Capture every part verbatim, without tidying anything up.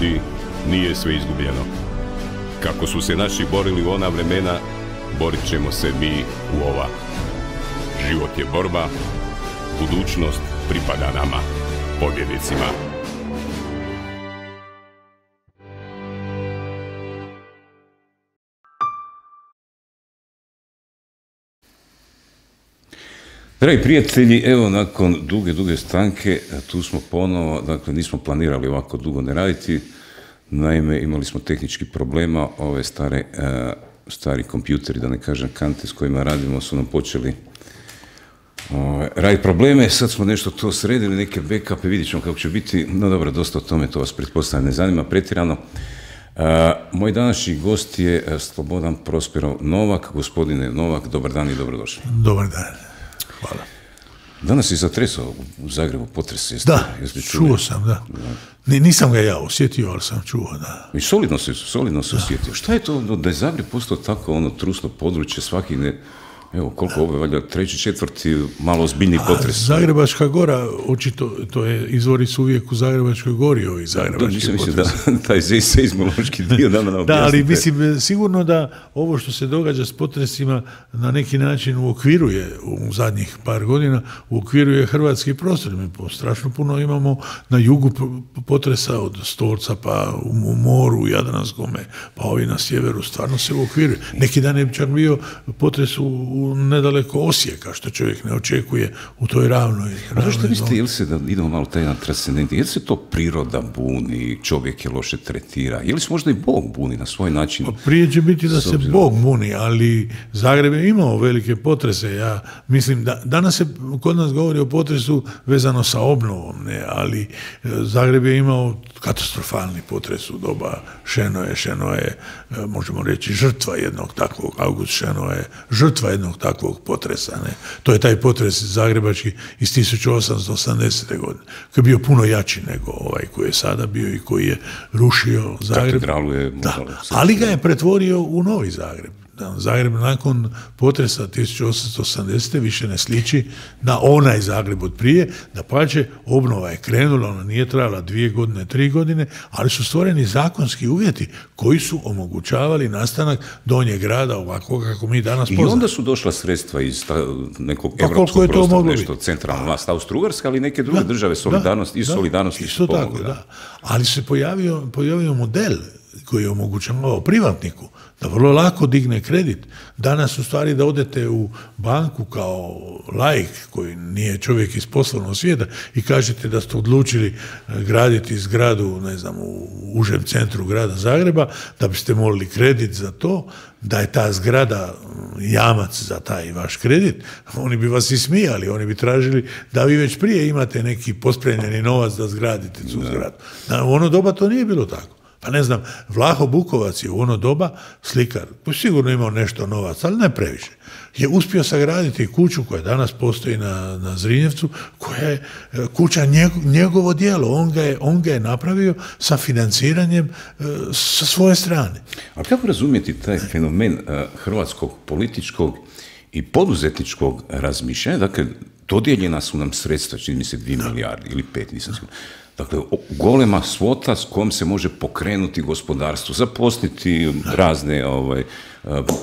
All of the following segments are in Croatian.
ljudi, nije sve izgubljeno. Kako su se naši borili u ona vremena, borit ćemo se mi u ova. Život je borba, budućnost pripada nama, pobjednicima. Dragi prijatelji, evo nakon duge, duge stanke, tu smo ponovo, dakle nismo planirali ovako dugo ne raditi, naime imali smo tehnički problema, ove stare, uh, stari kompjuteri, da ne kažem kante s kojima radimo, su nam počeli uh, raditi probleme, sad smo nešto to sredili, neke backupe, vidjet ćemo kako će biti, no dobro, dosta o tome, to vas pretpostavljam ne zanima pretjerano. Uh, moj današnji gost je uh, Slobodan Prosperov Novak. Gospodine Novak, dobar dan i dobrodošli. Dobar dan. Hvala. Danas je zatresao u Zagrebu potres. Jeste, da, jeste čuo sam, da. da. Nisam ga ja osjetio, ali sam čuo, da. I solidno se, solidno se osjetio. Šta je to da je Zagreb postao tako ono trusno područje, svaki ne... Evo, koliko ovo je, valjda, treći, četvrti, malo ozbiljniji potres. A Zagrebačka gora, očito, to je, izvori su uvijek u Zagrebačkoj gori, ovi zagrebački da, potres. Da, taj seizmološki dio da nam objasnite. Da, ali mislim, sigurno da ovo što se događa s potresima na neki način uokviruje u zadnjih par godina, uokviruje hrvatski prostor. Mi strašno puno imamo na jugu potresa od Stolca pa u moru, u Jadranskome, pa ovi na sjeveru, stvarno se uokviruje. Neki dan je čak bio potres u nedaleko Osijeka, što čovjek ne očekuje u toj ravnoj. A zašto mislite, jel se, da idemo malo taj jedan transcendent, jel se to priroda buni, čovjek je loše tretira, je li se možda i Bog buni na svoj način? Pa prije će biti da se Bog buni, ali Zagreb je imao velike potrese. Ja mislim da danas se kod nas govori o potresu vezano sa obnovom, ne, ali Zagreb je imao katastrofalni potres u doba Šenoje. Šeno je, možemo reći, žrtva jednog takvog, August Šeno je žrtva jednog takvog potresa. Ne. To je taj potres zagrebački iz tisuću osamsto osamdesete. godine, koji je bio puno jači nego ovaj koji je sada bio i koji je rušio Zagreb. Katedralu je... Da, ali ga je pretvorio u novi Zagreb. Zagreb nakon potresa tisuću osamsto osamdesete. više ne sliči na onaj Zagreb od prije, da pače obnova je krenula, ona nije trajala dvije godine, tri godine, ali su stvoreni zakonski uvjeti koji su omogućavali nastanak Donjeg grada ovako kako mi danas poznamo. I onda su došla sredstva iz ta, nekog pa evropskog prostora, nešto centralna vlast Austro-Ugarska, ali neke druge da, države solidarnost, da, iz solidarnosti isto tako, pomogli, da. da. Ali se pojavio, pojavio model koji je omogućavao privatniku da vrlo lako digne kredit. Danas u stvari da odete u banku kao laik koji nije čovjek iz poslovnog svijeta i kažete da ste odlučili graditi zgradu, ne znam, u užem centru grada Zagreba, da biste molili kredit za to, da je ta zgrada jamac za taj vaš kredit, oni bi vas ismijali, oni bi tražili da vi već prije imate neki pospremljeni novac da zgradite tu zgradu. U ono doba to nije bilo tako. Pa ne znam, Vlaho Bukovac je u ono doba slikar, koji sigurno imao nešto novaca, ali ne previše. Je uspio sagraditi kuću koja danas postoji na, na Zrinjevcu, koja je kuća njeg, njegovo djelo. On ga, je, on ga je napravio sa financiranjem e, sa svoje strane. A kako razumjeti taj fenomen uh, hrvatskog političkog i poduzetničkog razmišljanja? Dakle, dodijeljena su nam sredstva, čini mi se dvije milijarde ili pet, nisam sigurno. Dakle, golema svota s kojom se može pokrenuti gospodarstvo, zaposliti razne ovaj,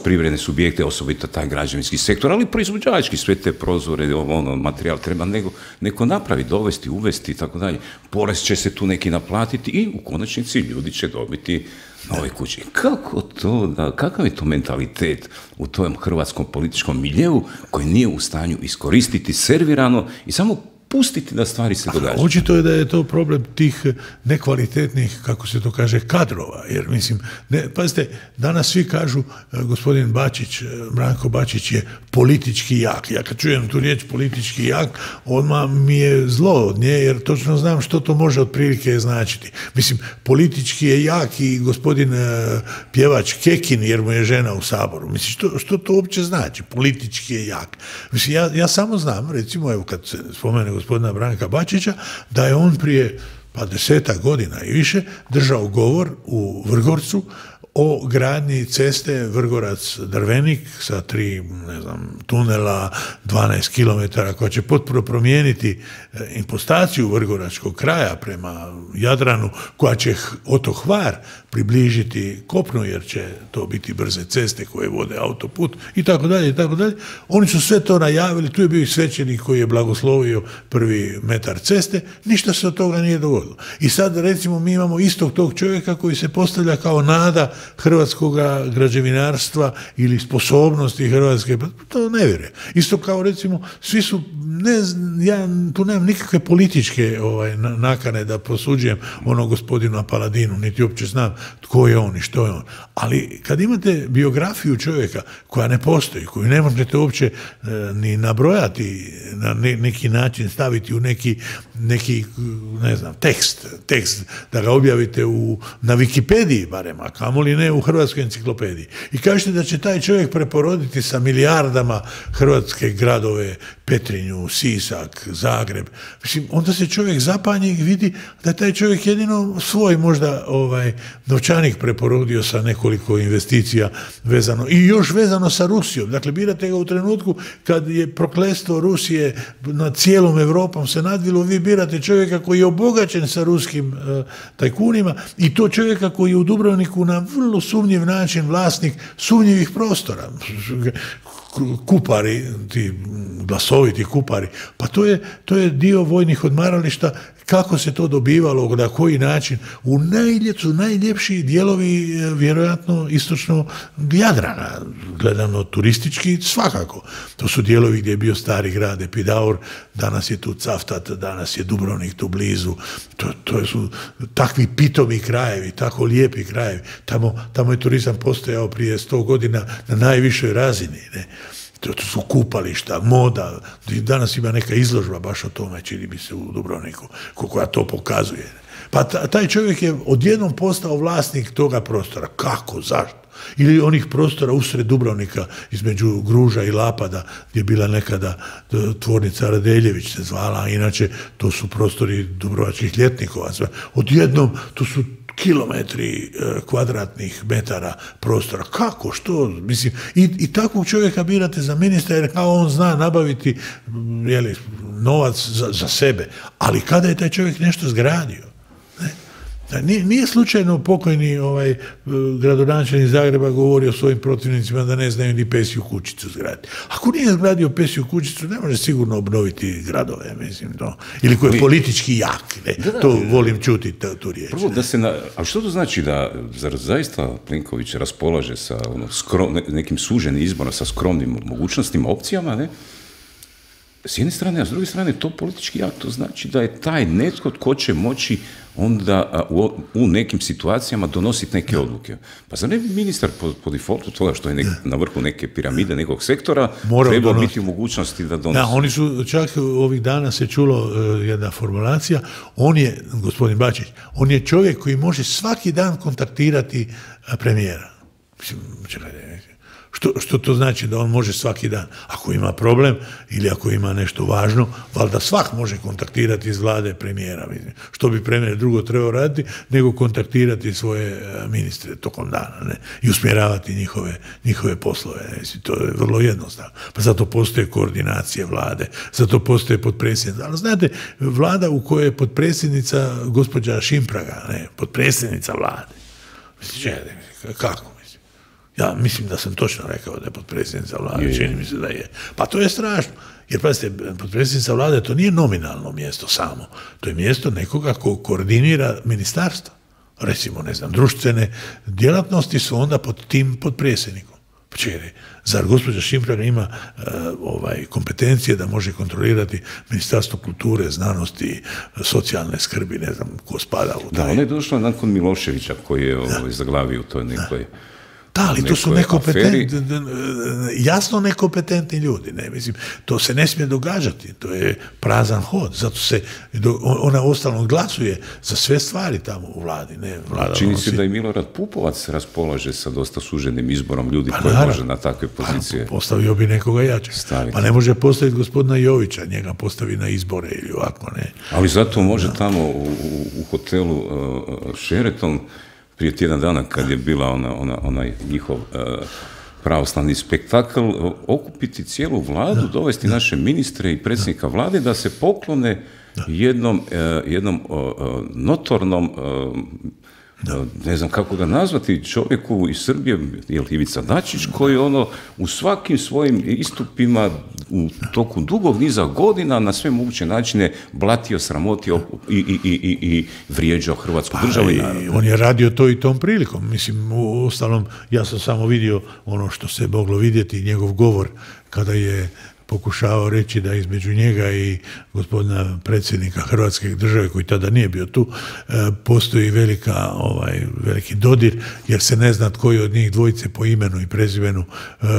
privredne subjekte, osobito taj građevinski sektor, ali proizvođački, sve te prozore, ono, materijal treba nego, neko napraviti, dovesti, uvesti i tako dalje. Porez će se tu neki naplatiti i u konačnici ljudi će dobiti nove kuće. Kako to, da, kakav je to mentalitet u tom hrvatskom političkom miljeu koji nije u stanju iskoristiti servirano i samo pustiti da stvari se događaju? Očito je da je to problem tih nekvalitetnih, kako se to kaže, kadrova. Jer mislim, ne, pazite, danas svi kažu gospodin Bačić, Branko Bačić je politički jak. Ja kad čujem tu riječ politički jak, odmah mi je zlo od nje, jer točno znam što to može otprilike značiti. Mislim, politički je jak i gospodin pjevač Kekin, jer mu je žena u Saboru. Mislim, što, što to uopće znači? Politički je jak. Mislim, ja, ja samo znam, recimo, evo kad se spomene gospodina Branka Bačića, da je on prije pa desetak godina i više držao govor u Vrgorcu o gradnji ceste Vrgorac-Drvenik sa tri, ne znam, tunela, dvanaest kilometara, koja će potpuno promijeniti impostaciju vrgoračkog kraja prema Jadranu, koja će oto Hvar približiti kopnu, jer će to biti brze ceste koje vode autoput i tako dalje i tako dalje. Oni su sve to najavili, tu je bio i svećenik koji je blagoslovio prvi metar ceste, ništa se od toga nije dogodilo. I sad recimo mi imamo istog tog čovjeka koji se postavlja kao nada hrvatskog građevinarstva ili sposobnosti Hrvatske, to ne vjerujem. Isto kao recimo, svi su, ne, ja tu nemam nikakve političke ovaj, nakane da prosuđujem ono gospodinu Paladinu, niti uopće znam tko je on i što je on. Ali kad imate biografiju čovjeka koja ne postoji, koju ne možete uopće e, ni nabrojati, na ne, neki način staviti u neki, neki ne znam, tekst, tekst da ga objavite u, na Wikipediji barem, a kamoli ne u Hrvatskoj enciklopediji. I kažete da će taj čovjek preporoditi sa milijardama hrvatske gradove, Petrinju, Sisak, Zagreb. Mislim, onda se čovjek zapanje i vidi da je taj čovjek jedino svoj možda ovaj, novčanik preporodio sa nekoliko investicija vezano, i još vezano sa Rusijom. Dakle, birate ga u trenutku kad je prokletstvo Rusije nad cijelom Evropom se nadvilo, vi birate čovjeka koji je obogaćen sa ruskim uh, tajkunima, i to čovjeka koji je u Dubrovniku na vrlo sumnjiv način vlasnik sumnjivih prostora. Kupari, ti glasoviti kupari, pa to je, to je dio vojnih odmarališta. Kako se to dobivalo, na koji način, u najljepšu, najljepši dijelovi vjerojatno istočno Jadrana, gledano turistički svakako. To su dijelovi gdje je bio stari grad Epidaur, danas je tu Cavtat, danas je Dubrovnik tu blizu, to, to su takvi pitomi krajevi, tako lijepi krajevi. Tamo, tamo je turizam postojao prije sto godina na najvišoj razini, ne? To su kupališta, moda, danas ima neka izložba baš o tome, čini mi se, u Dubrovniku, koja to pokazuje. Pa taj čovjek je odjednom postao vlasnik toga prostora. Kako? Zašto? Ili onih prostora usred Dubrovnika, između Gruža i Lapada, gdje je bila nekada tvornica Radeljević se zvala, a inače to su prostori dubrovačkih ljetnikova. Odjednom to su kilometri kvadratnih metara prostora. Kako? Što? Mislim, i, i takvog čovjeka birate za ministra, jer kao on zna nabaviti jeli, novac za, za sebe. Ali kada je taj čovjek nešto zgradio? Ne? Nije, nije slučajno pokojni ovaj, gradonačelnik Zagreba govorio svojim protivnicima da ne znaju ni pesju kućicu zgraditi. Ako nije zgradio pesju kućicu, ne može sigurno obnoviti gradove, mislim, to. Ili koji je politički jak, ne? Da, da, to volim čuti, tu, tu riječ. Prvo, da se na, a što to znači da, zar zaista Plenković raspolaže sa ono, skrom, ne, nekim suženim izborom, sa skromnim mogućnostima, opcijama, ne? S jedne strane, a s druge strane, to politički jak, to znači da je taj netko tko će moći onda u, u nekim situacijama donositi neke odluke. Pa zar ne bi ministar po, po defaultu toga što je nek, na vrhu neke piramide nekog sektora trebao biti u mogućnosti da donosi? Da, oni su, čak ovih dana se čulo uh, jedna formulacija, on je, gospodin Bačić, on je čovjek koji može svaki dan kontaktirati uh, premijera. Mislim, čekaj, Što, što to znači da on može svaki dan? Ako ima problem ili ako ima nešto važno, valjda svak može kontaktirati iz vlade premijera. Što bi premijer drugo trebao raditi, nego kontaktirati svoje ministre tokom dana, ne? I usmjeravati njihove, njihove poslove. Ne? To je vrlo jednostavno. Pa zato postoje koordinacije vlade, zato postoje potpredsjednica. Ali znate, vlada u kojoj je potpredsjednica gospođa Šimpraga, ne? Potpredsjednica vlade. Mislim, kako? Ja mislim da sam točno rekao da je potpredsjednica vlade, čini mi se da je. Pa to je strašno. Jer, pazite, potpredsjednica vlade to nije nominalno mjesto samo. To je mjesto nekoga ko koordinira ministarstvo. Recimo, ne znam, društvene djelatnosti su onda pod tim potpredsjednikom. Čekaj, zar gospođa Šimpraga ima uh, ovaj, kompetencije da može kontrolirati Ministarstvo kulture, znanosti, socijalne skrbi, ne znam ko spada u taj... Da, ona je došla nakon Miloševića koji je ovaj, zaglavio u toj nekoj... Da. Da, ali to su nekompetentni, jasno nekompetentni ljudi, ne, mislim, to se ne smije događati, to je prazan hod, zato se, ona ostalom glasuje za sve stvari tamo u vladi, ne, vlada. Čini nosi... se da i Milorad Pupovac raspolaže sa dosta suženim izborom ljudi pa, koji naravno, može na takve pozicije. Pa, postavio bi nekoga jače. Staviti. Pa ne može postaviti gospodina Jovića, njega postavi na izbore ili ovako, ne. Ali zato može da. Tamo u, u hotelu uh, Sheraton prije tjedan dana kad je bila ona, ona, onaj njihov uh, pravoslavni spektakl, okupiti cijelu vladu, da, dovesti da. naše ministre i predsjednika vlade da se poklone da. jednom, uh, jednom uh, notornom uh, Da. ne znam kako ga nazvati, čovjeku iz Srbije, je li Ivica Dačić, koji ono u svakim svojim istupima u toku dugog niza godina na sve moguće načine blatio, sramotio i, i, i, i vrijeđao Hrvatsku pa, državu. I on je radio to i tom prilikom. Mislim, u ostalom, ja sam samo vidio ono što se moglo vidjeti, njegov govor kada je pokušavao reći da između njega i gospodina predsjednika Hrvatske države, koji tada nije bio tu, postoji velika, ovaj, veliki dodir, jer se ne zna tko je od njih dvojice po imenu i prezimenu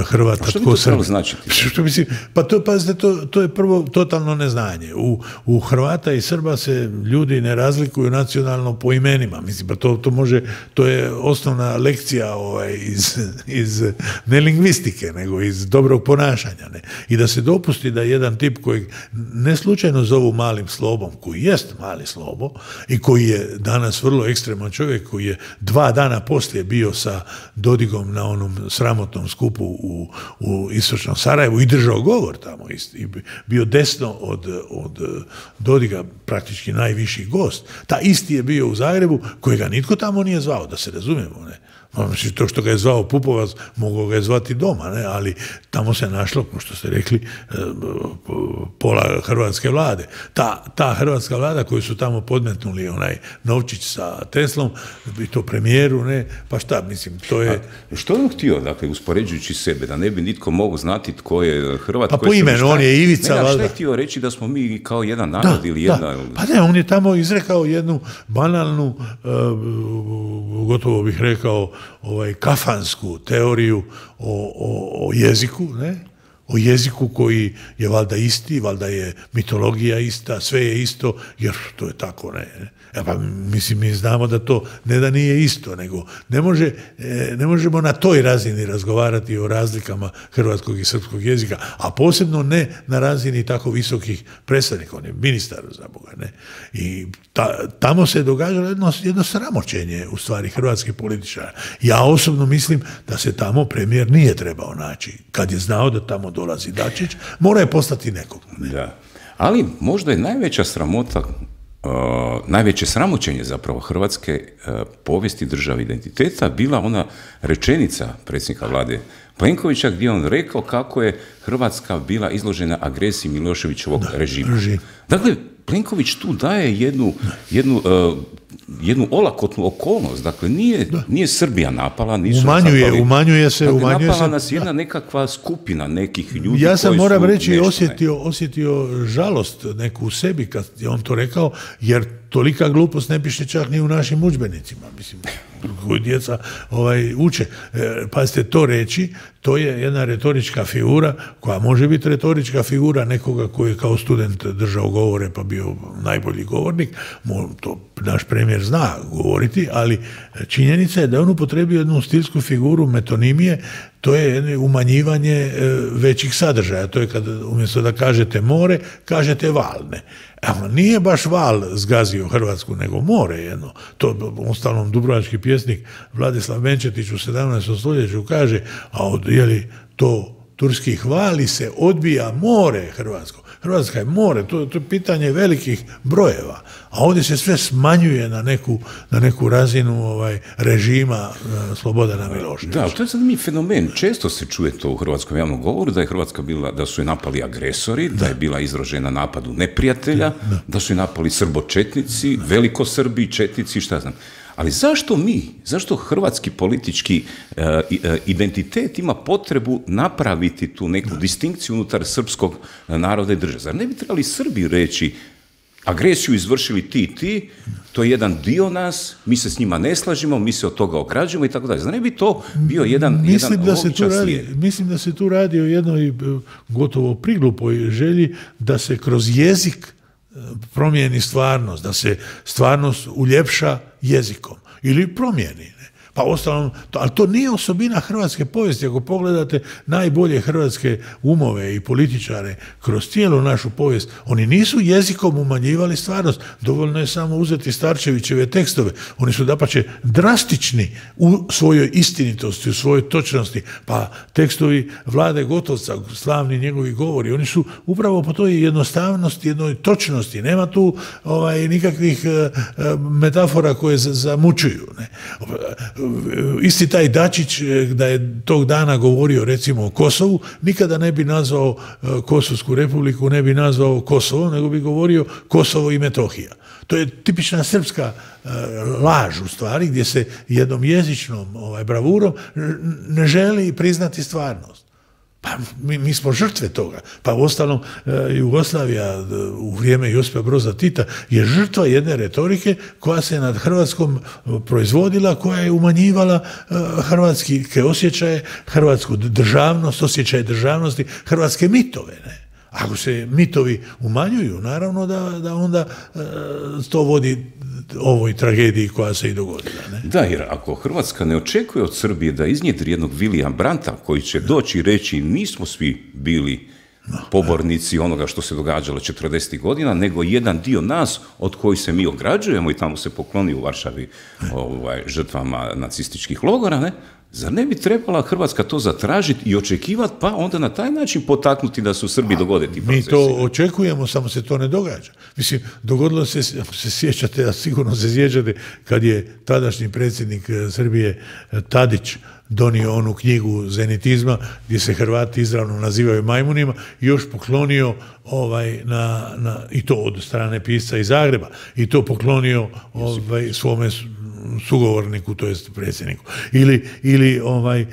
Hrvata. A što bi to trebalo značiti? Što mislim, pa to, pazite, to, to je prvo totalno neznanje. U, u Hrvata i Srba se ljudi ne razlikuju nacionalno po imenima. Mislim, pa to, to može, to je osnovna lekcija ovaj, iz, iz ne lingvistike, nego iz dobrog ponašanja. Ne? I da se dopusti da jedan tip kojeg ne slučajno zovu malim slobom, koji jest mali slobo i koji je danas vrlo ekstreman čovjek, koji je dva dana poslije bio sa Dodigom na onom sramotnom skupu u, u istočnom Sarajevu i držao govor tamo i bio desno od, od Dodiga, praktički najviši gost. Ta isti je bio u Zagrebu, kojega nitko tamo nije zvao, da se razumijemo, ne? Znači, to što ga je zvao Pupovac, mogao ga je zvati doma, ne? Ali tamo se našlo, kao što ste rekli, pola hrvatske vlade. Ta, ta hrvatska vlada koju su tamo podmetnuli onaj Novčić sa Teslom, i to premijeru, ne? Pa šta, mislim, to je... A što je on htio, dakle, uspoređujući sebe, da ne bi nitko mogao znati tko je Hrvat? Pa po imenu, on je Ivica, ne, valjda. Šta je htio reći da smo mi kao jedan narod da, ili jedna... Da. Pa ne, on je tamo izrekao jednu banalnu, uh, gotovo bih rekao, ovaj, kafansku teoriju o, o, o jeziku, ne? O jeziku koji je valjda isti, valjda je mitologija ista, sve je isto, jer to je tako, ne? E pa, mislim, mi znamo da to ne da nije isto, nego ne, može, ne možemo na toj razini razgovarati o razlikama hrvatskog i srpskog jezika, a posebno ne na razini tako visokih predstavnika, on je ministar za Boga, ne? I ta, tamo se događalo jedno, jedno sramoćenje u stvari hrvatskih političara. Ja osobno mislim da se tamo premijer nije trebao naći. Kad je znao da tamo dolazi Dačić, mora je poslati nekog. Ne? Da. Ali možda je najveća sramota, uh, najveće sramoćenje zapravo hrvatske uh, povijesti države identiteta bila ona rečenica predsjednika vlade Plenkovića gdje on rekao kako je Hrvatska bila izložena agresiji Miloševićevog da, režima. Režim. Dakle, Plenković tu daje jednu, jednu, uh, jednu olakotnu okolnost. Dakle, nije, nije Srbija napala, nisu umanjuje, zapali. Umanjuje se, dakle, umanjuje napala se. nas jedna nekakva skupina nekih ljudi. Ja sam, koji moram su reći, nešto, osjetio, osjetio žalost neku u sebi kad je on to rekao, jer tolika glupost ne piše čak ni u našim udžbenicima, mislim, koju djeca ovaj, uče. E, pazite, to reći, to je jedna retorička figura, koja može biti retorička figura nekoga koji je kao student držao govore pa bio najbolji govornik, to naš premijer zna govoriti, ali činjenica je da on upotrebio jednu stilsku figuru metonimije, to je jedno umanjivanje većih sadržaja. To je kad umjesto da kažete more, kažete val, ne. Evo, nije baš val zgazio Hrvatsku, nego more jedno. To, uostalom, dubrovački pjesnik Vladislav Benčetić u sedamnaestom stoljeću kaže, a od, jeli, to turski hvali se, odbija more Hrvatsko. Hrvatska je more, to, to je pitanje velikih brojeva. A ovdje se sve smanjuje na neku, na neku razinu ovaj, režima uh, Slobodana Miloševića. Da, to je zanimljiv fenomen. Često se čuje to u hrvatskom javnom govoru, da je Hrvatska bila, da su je napali agresori, da, da je bila izložena napadu neprijatelja, da, da. da su je napali srbočetnici, velikosrbi, četnici, šta znam. Ali zašto mi, zašto hrvatski politički uh, identitet ima potrebu napraviti tu neku da. distinkciju unutar srpskog naroda i države? Zar ne bi trebali Srbi reći agresiju izvršili ti i ti, to je jedan dio nas, mi se s njima ne slažemo, mi se od toga ograđujemo i tako dalje. Zar ne bi to bio jedan, mislim jedan da se tu radi, mislim da se tu radi o jednoj gotovo priglupoj želji da se kroz jezik promijeni stvarnost, da se stvarnost uljepša jezikom ili promijeni. Ne? Pa ostalom, to, ali to nije osobina hrvatske povijesti. Ako pogledate najbolje hrvatske umove i političare kroz cijelu našu povijest, oni nisu jezikom umanjivali stvarnost. Dovoljno je samo uzeti Starčevićeve tekstove. Oni su dapače drastični u svojoj istinitosti, u svojoj točnosti. Pa tekstovi Vlade Gotovca, slavni njegovi govori, oni su upravo po toj jednostavnosti, jednoj točnosti. Nema tu ovaj, nikakvih uh, metafora koje zamučuju. Ne? Isti taj Dačić, da je tog dana govorio recimo o Kosovu, nikada ne bi nazvao uh, Kosovsku republiku, ne bi nazvao Kosovo, nego bi govorio Kosovo i Metohija. To je tipična srpska uh, laž u stvari, gdje se jednom jezičnom ovaj, bravurom ne želi priznati stvarnost. Pa mi, mi smo žrtve toga. Pa u ostalom uh, Jugoslavija uh, u vrijeme Josipa Broza Tita je žrtva jedne retorike koja se nad Hrvatskom uh, proizvodila, koja je umanjivala uh, hrvatske osjećaje, hrvatsku državnost, osjećaje državnosti, hrvatske mitove, ne? Ako se mitovi umanjuju, naravno da, da onda e, to vodi ovoj tragediji koja se i dogodila. Ne? Da, jer ako Hrvatska ne očekuje od Srbije da iznjedri jednog William Brandta koji će doći i reći nismo svi bili pobornici onoga što se događalo četrdesetih godina, nego jedan dio nas od kojih se mi ograđujemo i tamo se pokloni u Varšavi ovaj, žrtvama nacističkih logora, ne? Zar ne bi trebala Hrvatska to zatražiti i očekivati, pa onda na taj način potaknuti da se u Srbiji dogode ti procesi? Mi to očekujemo, samo se to ne događa. Mislim, dogodilo se, se sjećate, a sigurno se sjećate, kad je tadašnji predsjednik Srbije Tadić donio onu knjigu zenitizma, gdje se Hrvati izravno nazivaju majmunima, i još poklonio ovaj, na, na, i to od strane pisca iz Zagreba, i to poklonio ovaj, svome sugovorniku, to jest predsjedniku. Ili, ili ovaj,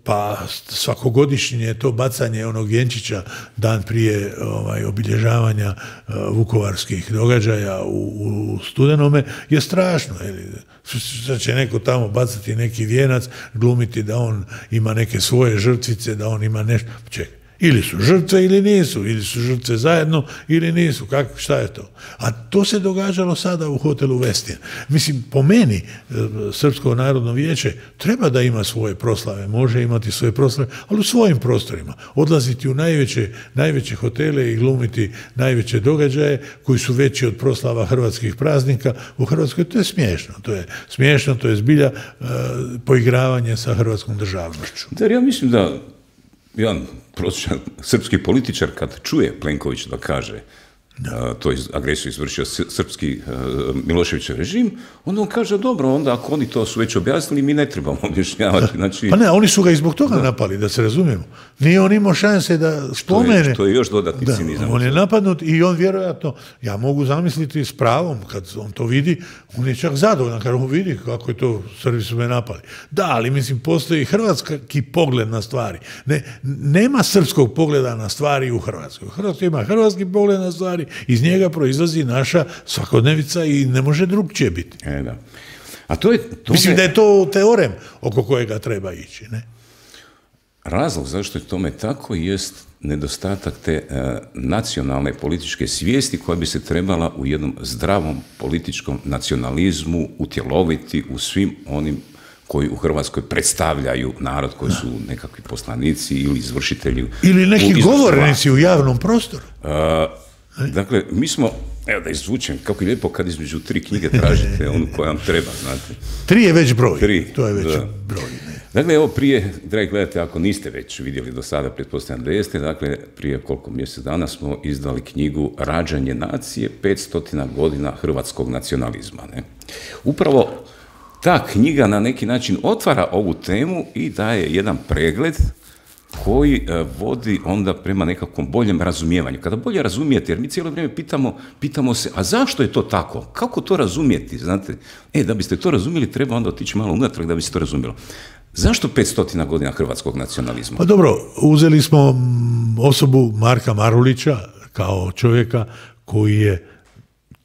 pa svakogodišnje je to bacanje onog vjenčića dan prije ovaj, obilježavanja uh, vukovarskih događaja u, u studenome je strašno. Sad će neko tamo bacati neki vijenac, glumiti da on ima neke svoje žrtvice, da on ima nešto. Čekaj. Ili su žrtve ili nisu, ili su žrtve zajedno ili nisu, kako, šta je to? A to se događalo sada u hotelu Westin. Mislim, po meni, Srpsko narodno vijeće treba da ima svoje proslave, može imati svoje proslave, ali u svojim prostorima. Odlaziti u najveće, najveće hotele i glumiti najveće događaje koji su veći od proslava hrvatskih praznika u Hrvatskoj, to je smiješno. To je smiješno, to je zbilja uh, poigravanje sa hrvatskom državnošću. Da, ja mislim da jedan prosječan srpski političar kad čuje Plenković da kaže da to je agresiju izvršio srpski uh, Miloševićev režim, onda on kaže dobro, onda ako oni to su već objasnili, mi ne trebamo objašnjavati. Znači, pa ne, oni su ga i zbog toga da. napali, da se razumijemo. Nije on imao šanse da spomene. Što je, što je još dodatni da, cinizam. On je napadnut i on vjerojatno, ja mogu zamisliti s pravom, kad on to vidi, on je čak zadovoljan, kad on vidi kako je to, Srbi su me napali. Da, ali mislim, postoji hrvatski pogled na stvari. Ne, nema srpskog pogleda na stvari u Hrvatskoj. U Hrvatskoj ima hrvatski pogled na stvari, iz njega proizlazi naša svakodnevica i ne može drugčije biti. E, da. A to je, to Mislim je... da je to teorem oko kojega treba ići. Ne? Razlog zašto je tome tako jest nedostatak te e, nacionalne političke svijesti koja bi se trebala u jednom zdravom političkom nacionalizmu utjeloviti u svim onim koji u Hrvatskoj predstavljaju narod, koji su nekakvi poslanici ili izvršitelji. Ili neki govornici u javnom prostoru. E, dakle, mi smo, evo da izvučem, kako je lijepo kad između tri knjige tražite onu koja vam treba, znate. Tri je već broj, tri, to je već da. broj. Ne. Dakle, evo prije, dragi gledajte, ako niste već vidjeli do sada, pretpostavljam da jeste, dakle, prije koliko mjesec dana smo izdali knjigu Rađanje nacije, petstotina godina hrvatskog nacionalizma. Ne? Upravo ta knjiga na neki način otvara ovu temu i daje jedan pregled koji e, vodi onda prema nekakvom boljem razumijevanju. Kada bolje razumijete, jer mi cijelo vrijeme pitamo, pitamo se, a zašto je to tako? Kako to razumijeti? Znate, e, da biste to razumjeli, treba onda otići malo unatrag da bi se to razumjelo. Zašto petstotina godina hrvatskog nacionalizma? Pa dobro, uzeli smo osobu Marka Marulića kao čovjeka koji je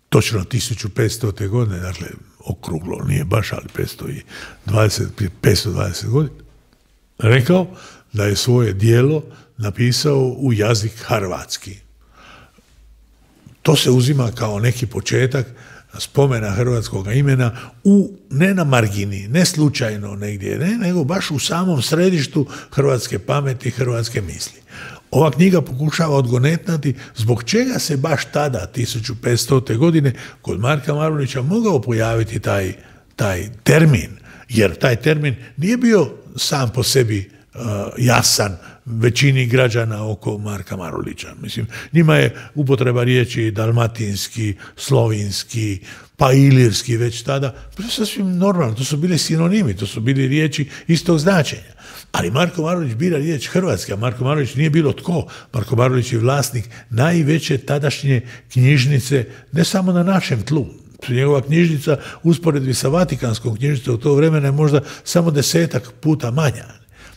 točno tisuću petstote godine, dakle, okruglo, nije baš, ali petsto dvadeset, petsto dvadeset godina, rekao da je svoje djelo napisao u jazik hrvatski. To se uzima kao neki početak spomena hrvatskog imena u, ne na margini, ne slučajno negdje, ne, nego baš u samom središtu hrvatske pameti, hrvatske misli. Ova knjiga pokušava odgonetnati zbog čega se baš tada, tisuću petstote. godine, kod Marka Marulića mogao pojaviti taj, taj termin, jer taj termin nije bio sam po sebi uh, jasan većini građana oko Marka Marulića. Mislim, njima je upotreba riječi dalmatinski, slovinski, pa ilirski već tada, to je sasvim normalno, to su bili sinonimi, to su bili riječi istog značenja. Ali Marko Marulić bira riječ hrvatski, a Marko Marulić nije bilo tko. Marko Marulić je vlasnik najveće tadašnje knjižnice, ne samo na našem tlu. Njegova knjižnica, usporedbi sa Vatikanskom knjižnicom u to vremena je možda samo desetak puta manja.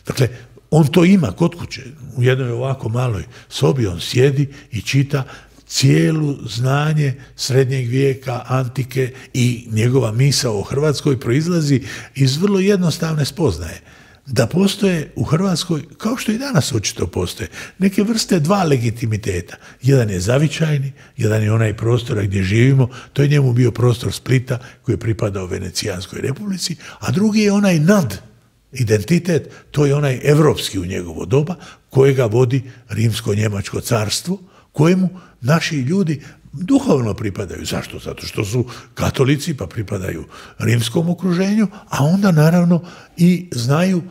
Dakle, on to ima kod kuće. U jednoj ovako maloj sobi on sjedi i čita cijelu znanje srednjeg vijeka, antike, i njegova misao o Hrvatskoj proizlazi iz vrlo jednostavne spoznaje. Da postoje u Hrvatskoj, kao što i danas očito postoje, neke vrste dva legitimiteta. Jedan je zavičajni, jedan je onaj prostor gdje živimo, to je njemu bio prostor Splita koji je pripadao Venecijanskoj republici, a drugi je onaj nad identitet, to je onaj evropski u njegovo doba, kojega vodi Rimsko-Njemačko carstvo, kojemu naši ljudi duhovno pripadaju. Zašto? Zato što su katolici, pa pripadaju rimskom okruženju, a onda naravno i znaju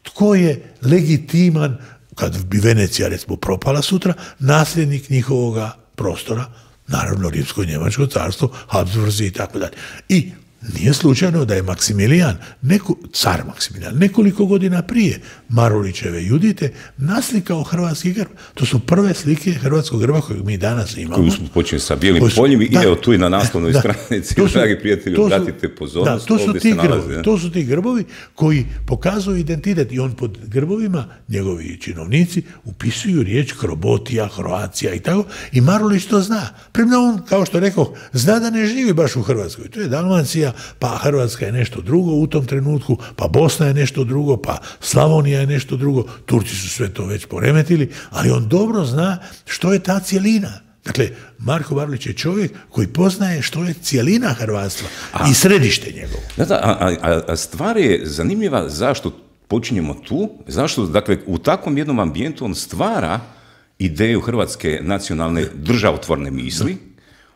tko je legitiman, kad bi Venecija recimo propala sutra, nasljednik njihovoga prostora, naravno Rimsko-Njemačko carstvo, Habsburzi i tako dalje. I nije slučajno da je Maksimilijan, neko, car Maksimilijan, nekoliko godina prije Marulićeve Judite naslikao hrvatski grb. To su prve slike hrvatskog grba kojeg mi danas imamo. Koji smo počeli sa bijelim poljem i evo tu i na naslovnoj stranici, dragi prijatelji, obratite pozornost, da, to su ovdje ti se nalazi. Grbovi, to su ti grbovi koji pokazuju identitet, i on pod grbovima, njegovi činovnici, upisuju riječ Krobotija, Croatia i tako, i Marulić to zna. Premda on, kao što rekao, zna da ne živi baš u Hrvatskoj. To je Dalmacija, pa Hrvatska je nešto drugo u tom trenutku, pa Bosna je nešto drugo, pa Slavonija je nešto drugo, Turci su sve to već poremetili, ali on dobro zna što je ta cjelina. Dakle, Marko Marulić je čovjek koji poznaje što je cjelina hrvatstva a, i središte njegovo. Da, da, a, a, a stvar je zanimljiva zašto počinjemo tu, zašto, dakle, u takvom jednom ambijentu on stvara ideju hrvatske nacionalne državotvorne misli.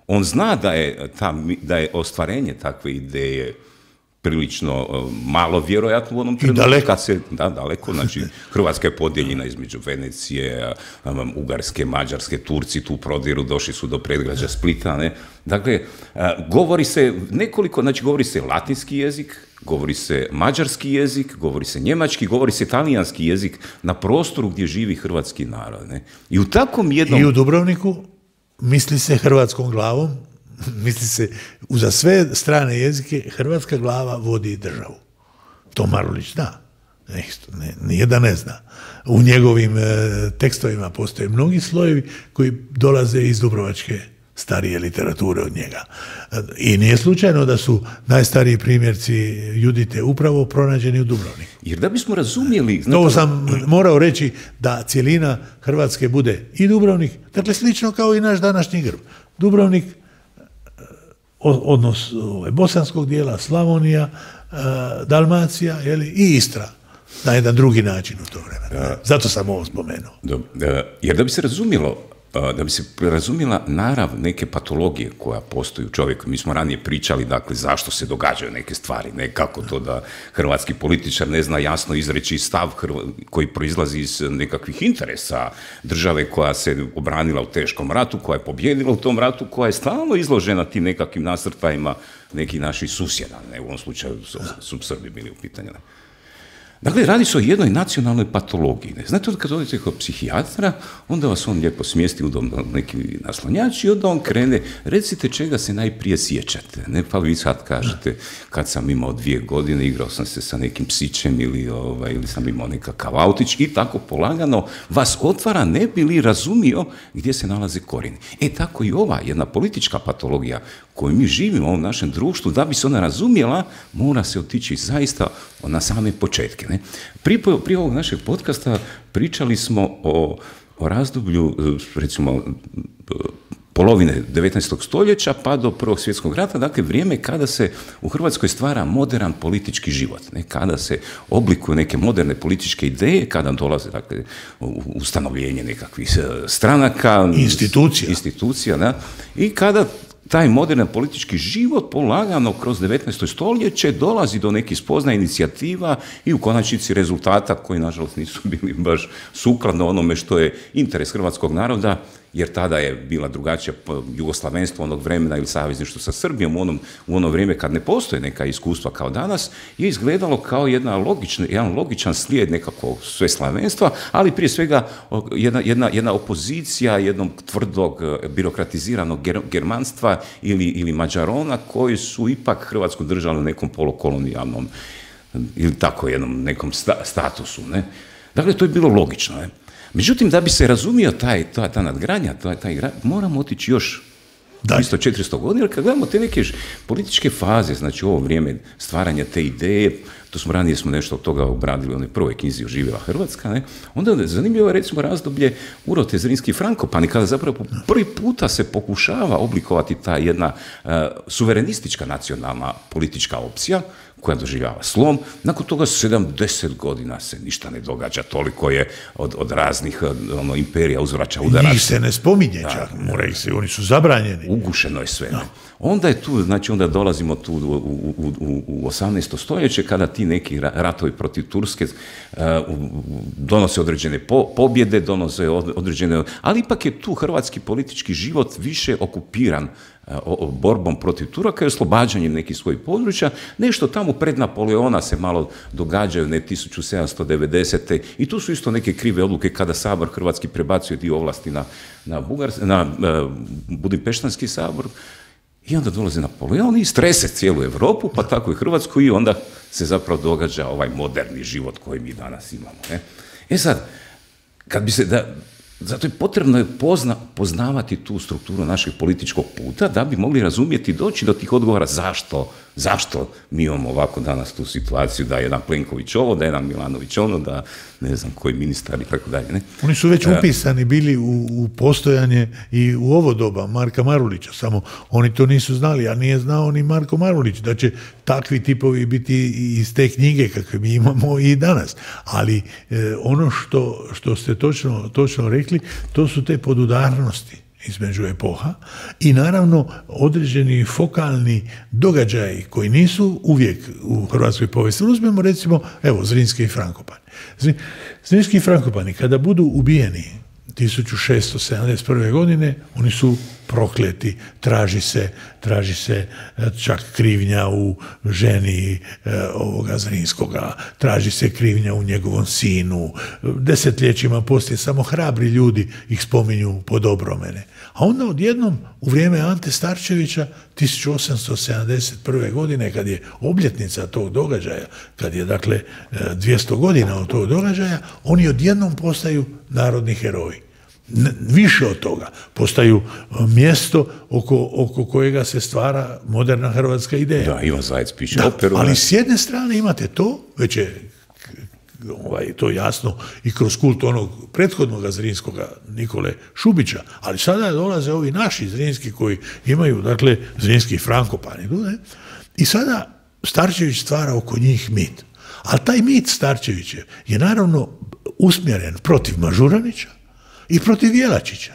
On zna da je, ta, da je ostvarenje takve ideje prilično uh, malo vjerojatno u onom trenutku. Daleko. Se, da, daleko. Znači, Hrvatska je podijeljena između Venecije, um, Ugarske, Mađarske, Turci tu prodiru, došli su do predgrađa Splita. Ne? Dakle, uh, govori se nekoliko, znači govori se latinski jezik, govori se mađarski jezik, govori se njemački, govori se talijanski jezik na prostoru gdje živi hrvatski narod. Ne? I u takvom jednom... I u Dubrovniku misli se hrvatskom glavom, misli se uza sve strane jezike, hrvatska glava vodi državu. To Marulić zna. Ne, ne, nije da ne zna. U njegovim e, tekstovima postoje mnogi slojevi koji dolaze iz dubrovačke starije literature od njega. I nije slučajno da su najstariji primjerci Judite upravo pronađeni u Dubrovniku. Jer da bismo razumjeli... To sam morao reći, da cijelina Hrvatske bude i Dubrovnik, dakle slično kao i naš današnji grb. Dubrovnik, odnos bosanskog dijela, Slavonija, Dalmacija, jeli, i Istra na jedan drugi način u to vremenu. Zato sam ovo spomenuo. Dobro. Jer da bi se razumjelo, da bi se razumjela narav neke patologije koja postoji u čovjeku. Mi smo ranije pričali, dakle, zašto se događaju neke stvari, ne kako to da hrvatski političar ne zna jasno izreći stav koji proizlazi iz nekakvih interesa države koja se obranila u teškom ratu, koja je pobjedila u tom ratu, koja je stalno izložena tim nekakvim nasrtajima nekih naših susjeda, ne, u ovom slučaju su, su Srbi bili u pitanju. Ne. Dakle, radi se o jednoj nacionalnoj patologiji. Ne? Znate, kad odete kod psihijatra, onda vas on lijepo smjesti u dom, neki naslonjač i onda on krene, recite čega se najprije sjećate. Ne? Pa vi sad kažete, kad sam imao dvije godine, igrao sam se sa nekim psićem ili, ovaj, ili sam imao nekakav autić i tako polagano vas otvara, ne bi li razumio gdje se nalaze korijeni. E, tako i ova jedna politička patologija koju mi živimo u ovom našem društvu, da bi se ona razumjela, mora se otići zaista na same početke. Ne? Prije, prije ovog našeg podcasta pričali smo o, o razdoblju, recimo, polovine devetnaestog stoljeća pa do Prvog svjetskog rata, dakle vrijeme kada se u Hrvatskoj stvara moderan politički život, ne? Kada se oblikuju neke moderne političke ideje, kada dolaze dakle, ustanovljenje nekakvih stranaka, institucija, institucija da? I kada taj moderan politički život polagano kroz devetnaesto stoljeće dolazi do nekih spoznaja, inicijativa i u konačnici rezultata koji nažalost nisu bili baš sukladno onome što je interes hrvatskog naroda, jer tada je bila drugačija jugoslavenstvo onog vremena ili savezništvo sa Srbijom u, onom, u ono vrijeme kad ne postoje neka iskustva kao danas, je izgledalo kao jedna logična, jedan logičan slijed nekakvog sveslavenstva, ali prije svega jedna, jedna, jedna opozicija jednog tvrdog birokratiziranog germanstva ili, ili mađarona koji su ipak Hrvatsku držali u nekom polukolonijalnom ili tako jednom nekom sta, statusu. Ne? Dakle, to je bilo logično. Ne? Međutim, da bi se razumio taj, ta, ta nadgradnja, taj, taj, moramo otići još tristo četiristo godina, jer kad gledamo te neke političke faze, znači ovo vrijeme stvaranja te ideje, to smo ranije smo nešto od toga obradili u onoj prvoj knjizi Oživjela Hrvatska, ne? Onda je zanimljivo recimo razdoblje Urote, Zrinski i Frankopani, kada zapravo po prvi puta se pokušava oblikovati ta jedna uh, suverenistička nacionalna politička opcija, koja doživljava slom. Nakon toga sedamdeset godina se ništa ne događa, toliko je od, od raznih ono, imperija uzvraća udara. Njih se ne spominje čak, mora ih se, oni su zabranjeni. Ugušeno je sve. No. Onda je tu, znači onda dolazimo tu u, u, u, u osamnaesto stoljeće, kada ti neki ratovi protiv Turske uh, donose određene po, pobjede, donose određene, ali ipak je tu hrvatski politički život više okupiran borbom protiv Turaka i oslobađanjem nekih svojih područja. Nešto tamo pred Napoleona se malo događaju, ne tisuću sedamsto devedesete. i tu su isto neke krive odluke kada Sabor hrvatski prebacuje dio ovlasti na, na, Bugars, na uh, Budimpeštanski sabor i onda dolazi Napoleon i strese cijelu Europu, pa tako i Hrvatsku i onda se zapravo događa ovaj moderni život koji mi danas imamo. Ne? E sad, kad bi se da zato je potrebno je pozna, poznavati tu strukturu našeg političkog puta da bi mogli razumjeti i doći do tih odgovora zašto, zašto mi imamo ovako danas tu situaciju da je jedan Plenković ovo, da je jedan Milanović ono, da ne znam koji ministar i tako dalje. Ne? Oni su već upisani bili u, u postojanje i u ovo doba Marka Marulića, samo oni to nisu znali, a nije znao ni Marko Marulić da će takvi tipovi biti iz te knjige kakve mi imamo i danas. Ali eh, ono što, što ste točno, točno rekli, to su te podudarnosti između epoha i naravno određeni fokalni događaji koji nisu uvijek u hrvatskoj povijesti. Uzmemo recimo, evo, Zrinski i Frankopani. Zrinski i Frankopani, kada budu ubijeni tisuću šesto sedamdeset prve. godine, oni su prokleti, traži se, traži se čak krivnja u ženi e, ovoga Zrinskoga, traži se krivnja u njegovom sinu, desetljećima poslije samo hrabri ljudi ih spominju po dobromene. A onda odjednom u vrijeme Ante Starčevića tisuću osamsto sedamdeset prve. godine, kad je obljetnica tog događaja, kad je dakle dvjesto godina od tog događaja, oni odjednom postaju narodni heroji. Više od toga, postaju mjesto oko, oko kojega se stvara moderna hrvatska ideja. Da, Ivan Zajec piše da, operu. Ali s jedne strane imate to, već je ovaj, to jasno i kroz kult onog prethodnog Zrinskoga Nikole Šubića, ali sada dolaze ovi naši Zrinski koji imaju, dakle, Zrinski i Frankopani. Ne? I sada Starčević stvara oko njih mit. Ali taj mit Starčevićev je naravno usmjeren protiv Mažuranića i protiv Jelačića.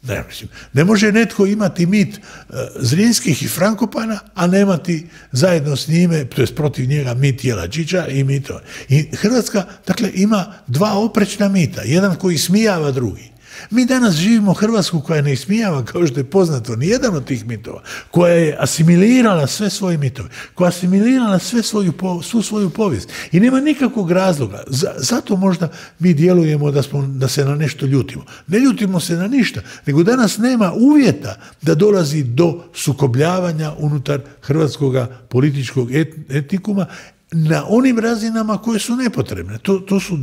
Ne, mislim, ne može netko imati mit uh, Zrinskih i Frankopana, a nemati zajedno s njime, to jest protiv njega, mit Jelačića i mito. I Hrvatska, dakle, ima dva oprečna mita, jedan koji smijava drugi. Mi danas živimo Hrvatsku koja ne ismijava, kao što je poznato, nijedan od tih mitova, koja je asimilirala sve svoje mitove, koja je asimilirala sve svoju, svu svoju povijest. I nema nikakvog razloga. Zato možda mi djelujemo da, smo, da se na nešto ljutimo. Ne ljutimo se na ništa, nego danas nema uvjeta da dolazi do sukobljavanja unutar hrvatskog političkog et, etnikuma na onim razinama koje su nepotrebne. To, to su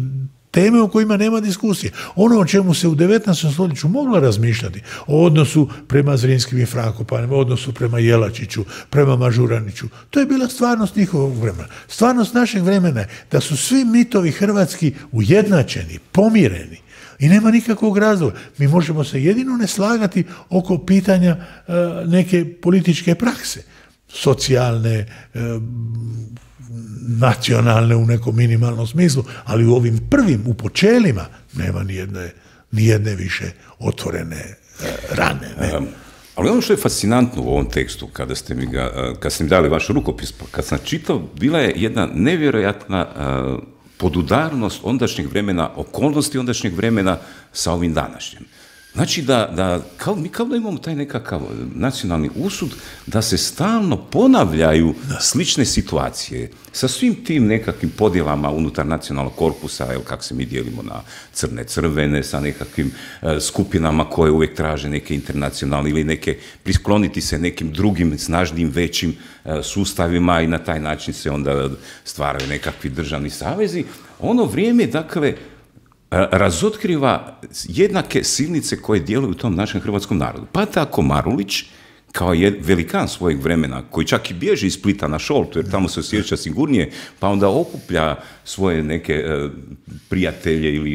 teme o kojima nema diskusije. Ono o čemu se u devetnaestom stoljeću moglo razmišljati, o odnosu prema Zrinskim i Frankopanima, o odnosu prema Jelačiću, prema Mažuraniću, to je bila stvarnost njihovog vremena. Stvarnost našeg vremena je da su svi mitovi hrvatski ujednačeni, pomireni, I nema nikakvog razloga. Mi možemo se jedino ne slagati oko pitanja e, neke političke prakse, socijalne, e, nacionalne u nekom minimalnom smislu, ali u ovim prvim, u počelima, nema nijedne, nijedne više otvorene e, rane. Ne? Um, ali ono što je fascinantno u ovom tekstu, kada ste mi, ga, kad ste mi dali vaš rukopis, kad sam čitao, bila je jedna nevjerojatna uh, podudarnost ondašnjeg vremena, okolnosti ondašnjeg vremena sa ovim današnjim. Znači da, da kao, mi kao da imamo taj nekakav nacionalni usud da se stalno ponavljaju slične situacije sa svim tim nekakvim podjelama unutar nacionalnog korpusa, evo kako se mi dijelimo na crne, crvene, sa nekakvim e, skupinama koje uvijek traže neke internacionalne ili neke, priskloniti se nekim drugim, snažnim, većim e, sustavima i na taj način se onda stvaraju nekakvi državni savezi. Ono vrijeme, dakle, razotkriva jednake silnice koje djeluju u tom našem hrvatskom narodu. Pa tako Marulić, kao je velikan svojeg vremena, koji čak i bježi iz Splita na Šoltu, jer tamo se osjeća sigurnije, pa onda okuplja svoje neke e, prijatelje ili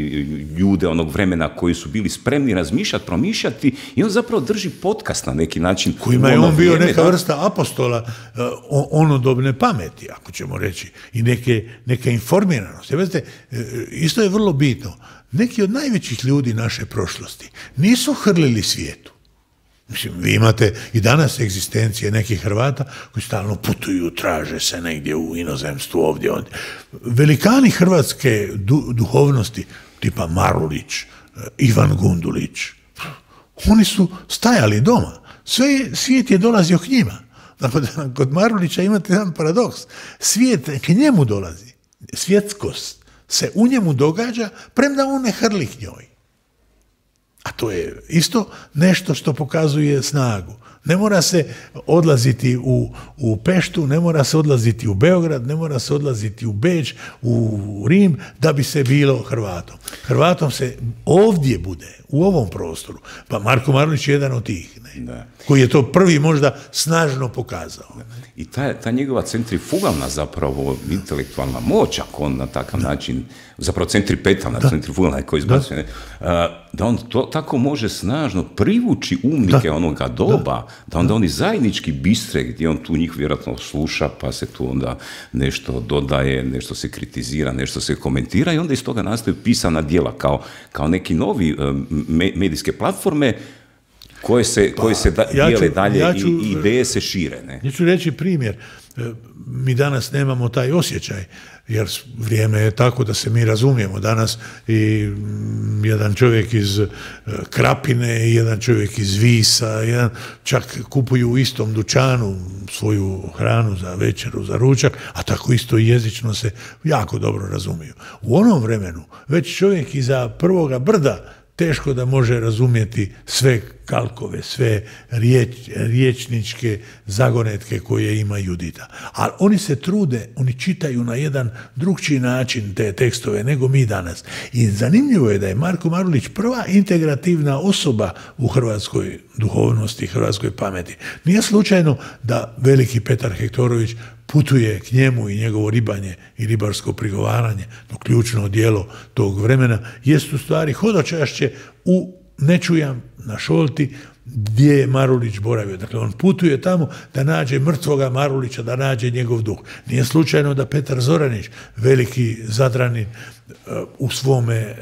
ljude onog vremena koji su bili spremni razmišljati, promišljati, i on zapravo drži podcast na neki način. Kojima je on bio neka vrsta apostola uh, onodobne pameti, ako ćemo reći, i neke, neke informiranosti. Vidite, isto je vrlo bitno. Neki od najvećih ljudi naše prošlosti nisu hrlili svijetu. Mislim, vi imate i danas egzistencije nekih Hrvata koji stalno putuju, traže se negdje u inozemstvu, ovdje, ovdje. Velikani hrvatske du, duhovnosti, tipa Marulić, Ivan Gundulić, oni su stajali doma. Sve, svijet je dolazio k njima. Dakle, kod Marulića imate jedan paradoks. Svijet k njemu dolazi. Svjetskost se u njemu događa, premda on ne hrli k njoj. A to je isto nešto što pokazuje snagu. Ne mora se odlaziti u, u Peštu, ne mora se odlaziti u Beograd, ne mora se odlaziti u Beč, u Rim, da bi se bilo Hrvatom. Hrvatom se ovdje bude, u ovom prostoru. Pa Marko Marulić je jedan od tih, ne? Da. Koji je to prvi možda snažno pokazao. I ta, ta njegova centrifugalna zapravo intelektualna moć, ako on na takav da. način, zapravo centripetalna, da. centrifugalna je koji izbacuje, da. da on to tako može snažno privući umnike da. onoga doba, da. da onda oni zajednički bistre, gdje on tu njih vjerojatno sluša, pa se tu onda nešto dodaje, nešto se kritizira, nešto se komentira, i onda iz toga nastaju pisana djela kao, kao neki novi me, medijske platforme koje se, pa, koje se da, ja ću, dijele dalje ja ću, i ideje se šire. Ne? Ja ću reći primjer. Mi danas nemamo taj osjećaj, jer vrijeme je tako da se mi razumijemo. Danas i jedan čovjek iz Krapine i jedan čovjek iz Visa, jedan čak kupuju u istom dućanu svoju hranu za večeru, za ručak, a tako isto i jezično se jako dobro razumiju. U onom vremenu već čovjek iza prvoga brda teško da može razumjeti sve kalkove, sve riječ, riječničke zagonetke koje ima Judita. Ali oni se trude, oni čitaju na jedan drugčiji način te tekstove nego mi danas. I zanimljivo je da je Marko Marulić prva integrativna osoba u hrvatskoj duhovnosti, hrvatskoj pameti. Nije slučajno da veliki Petar Hektorović putuje k njemu i njegovo ribanje i ribarsko prigovaranje, to ključno djelo tog vremena, jest u stvari hodočašće u Nečujam na Šolti, gdje je Marulić boravio. Dakle, on putuje tamo da nađe mrtvoga Marulića, da nađe njegov duh. Nije slučajno da Petar Zoranić, veliki Zadranin, u svome,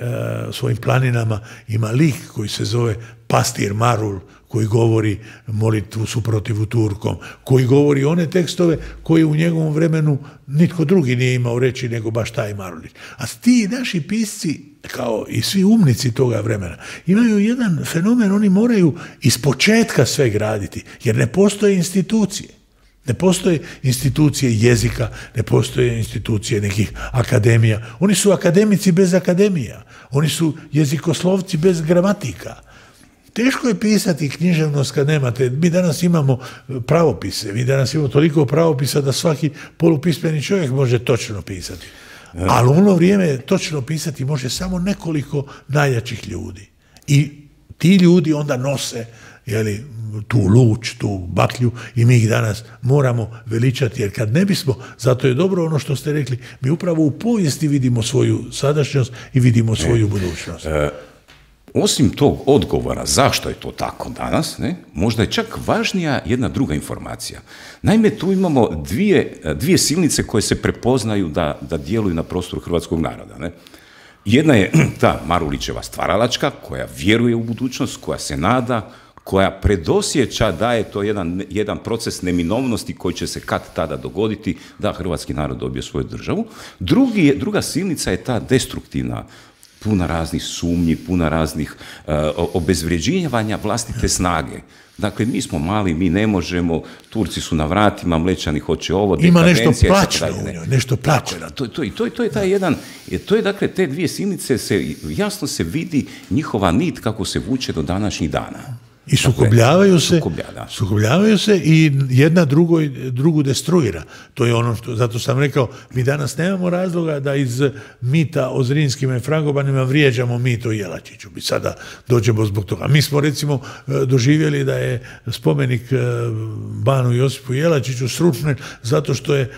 svojim planinama ima lik koji se zove Pastir Marul, koji govori molitvu suprotivu Turkom, koji govori one tekstove koje u njegovom vremenu nitko drugi nije imao reći nego baš taj Marulić. A ti naši pisci, kao i svi umnici toga vremena, imaju jedan fenomen, oni moraju iz početka sve graditi, jer ne postoje institucije. Ne postoje institucije jezika, ne postoje institucije nekih akademija. Oni su akademici bez akademija. Oni su jezikoslovci bez gramatika. Teško je pisati književnost kad nemate. Mi danas imamo pravopise, mi danas imamo toliko pravopisa da svaki polupismeni čovjek može točno pisati. Ali u ono vrijeme točno pisati može samo nekoliko najjačih ljudi. I ti ljudi onda nose, jeli, tu luč, tu baklju, i mi ih danas moramo veličati, jer kad ne bismo, zato je dobro ono što ste rekli, mi upravo u povijesti vidimo svoju sadašnjost i vidimo svoju budućnost. osim tog odgovora zašto je to tako danas, ne, možda je čak važnija jedna druga informacija. Naime, tu imamo dvije, dvije silnice koje se prepoznaju da, da djeluju na prostoru hrvatskog naroda. Ne. Jedna je ta Marulićeva stvaralačka, koja vjeruje u budućnost, koja se nada, koja predosjeća da je to jedan, jedan proces neminovnosti koji će se kad tada dogoditi, da hrvatski narod dobije svoju državu. Drugi, druga silnica je ta destruktivna, puna raznih sumnji, puna raznih uh, obezvrjeđivanja vlastite snage. Dakle, mi smo mali, mi ne možemo, Turci su na vratima, Mlečani hoće ovo, ima nešto plaćno u njoj, nešto plaćno. To, to, to, to je taj jedan, to je dakle, te dvije silnice, se, jasno se vidi njihova nit kako se vuče do današnjih dana. I sukobljavaju se, sukoblja, da. sukobljavaju se i jedna drugoj, drugu destruira. To je ono što, zato sam rekao, mi danas nemamo razloga da iz mita o Zrinskima i Frankopanima vrijeđamo mit o Jelačiću. Mi sada dođemo zbog toga. Mi smo recimo doživjeli da je spomenik Banu Josipu Jelačiću srušen zato što je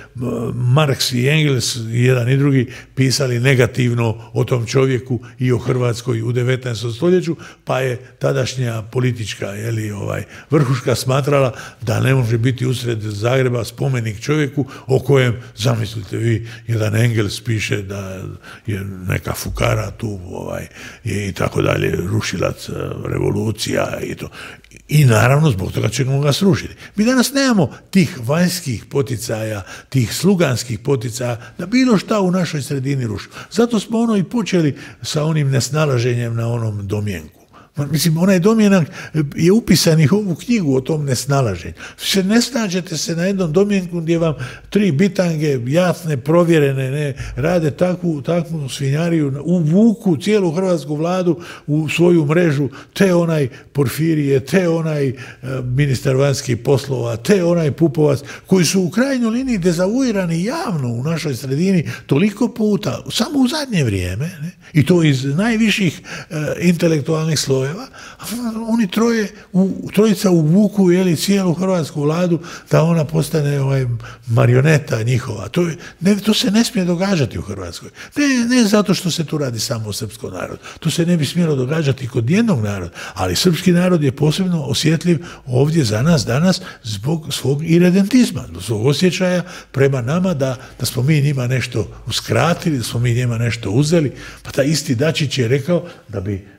Marks i Engels, jedan i drugi, pisali negativno o tom čovjeku i o Hrvatskoj u devetnaestom stoljeću, pa je tadašnja politička Jeli, ovaj, vrhuška smatrala da ne može biti usred Zagreba spomenik čovjeku o kojem, zamislite vi, jedan Engels piše da je neka fukara tu ovaj, i tako dalje, rušilac revolucija i to. I naravno zbog toga ćemo ga srušiti. Mi danas nemamo tih vanjskih poticaja, tih sluganskih poticaja da bilo šta u našoj sredini ruši. Zato smo ono i počeli sa onim nesnalaženjem na onom domjenku. Mislim, onaj domjenak je upisan i u ovu knjigu o tom nesnalaženju. Se ne snađete se na jednom domjenku gdje vam tri bitange, jasne, provjerene, ne, rade takvu, takvu svinjariju, uvuku cijelu hrvatsku vladu u svoju mrežu, te onaj Porfirije, te onaj e, ministar vanjskih poslova, te onaj Pupovac, koji su u krajnjoj liniji dezavuirani javno u našoj sredini toliko puta, samo u zadnje vrijeme, ne, i to iz najviših e, intelektualnih slojeva. Oni troje, u, trojica uvuku jeli, cijelu hrvatsku vladu da ona postane ovaj, marioneta njihova. To, je, ne, to se ne smije događati u Hrvatskoj. Ne, ne zato što se tu radi samo o srpskom narodu. To se ne bi smjelo događati kod jednog naroda. Ali srpski narod je posebno osjetljiv ovdje za nas danas zbog svog iredentizma, zbog svog osjećaja prema nama da, da smo mi njima nešto uskratili, da smo mi njima nešto uzeli. Pa taj isti Dačić je rekao da bi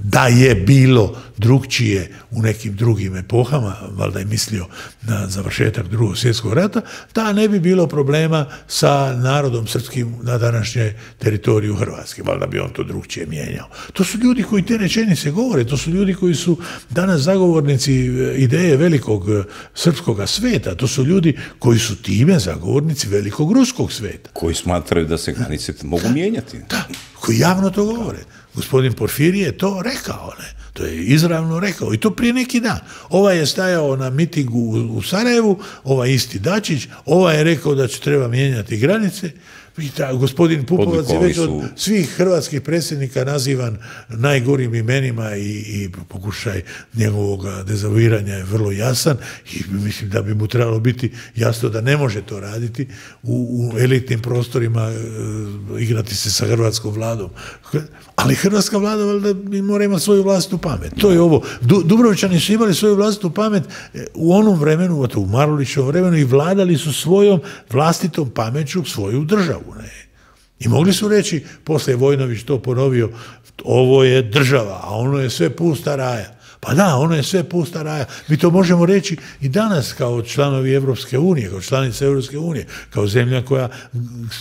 da je bilo drugčije u nekim drugim epohama, valjda je mislio na završetak Drugog svjetskog rata, da ne bi bilo problema sa narodom srpskim na današnjoj teritoriju Hrvatske, valjda bi on to drugčije mijenjao. To su ljudi koji te rečenice govore, to su ljudi koji su danas zagovornici ideje velikog srpskog sveta, to su ljudi koji su time zagovornici velikog ruskog sveta. Koji smatraju da se granice mogu mijenjati. Da, koji javno to govore. Gospodin Porfirije je to rekao, ne? To je izravno rekao i to prije neki dan. Ovaj je stajao na mitingu u Sarajevu, ovaj isti Dačić, ovaj je rekao da će treba mijenjati granice. Ta, gospodin Pupovac je već od svih hrvatskih predsjednika nazivan najgorim imenima i, i pokušaj njegovog dezavuiranja je vrlo jasan i mislim da bi mu trebalo biti jasno da ne može to raditi u, u elitnim prostorima, e, igrati se sa hrvatskom vladom. Ali hrvatska vlada valjda mora imati svoju vlastitu pamet. To je ovo. Du, Dubrovčani su imali svoju vlastitu pamet u onom vremenu, u Marulićevom vremenu i vladali su svojom vlastitom pameću svoju državu. Ne. I mogli su reći, poslije Vojnović to ponovio, ovo je država, a ono je sve pusta raja. Pa da, ono je sve pusta raja. Mi to možemo reći i danas kao članovi Evropske unije, kao članice Evropske unije, kao zemlja koja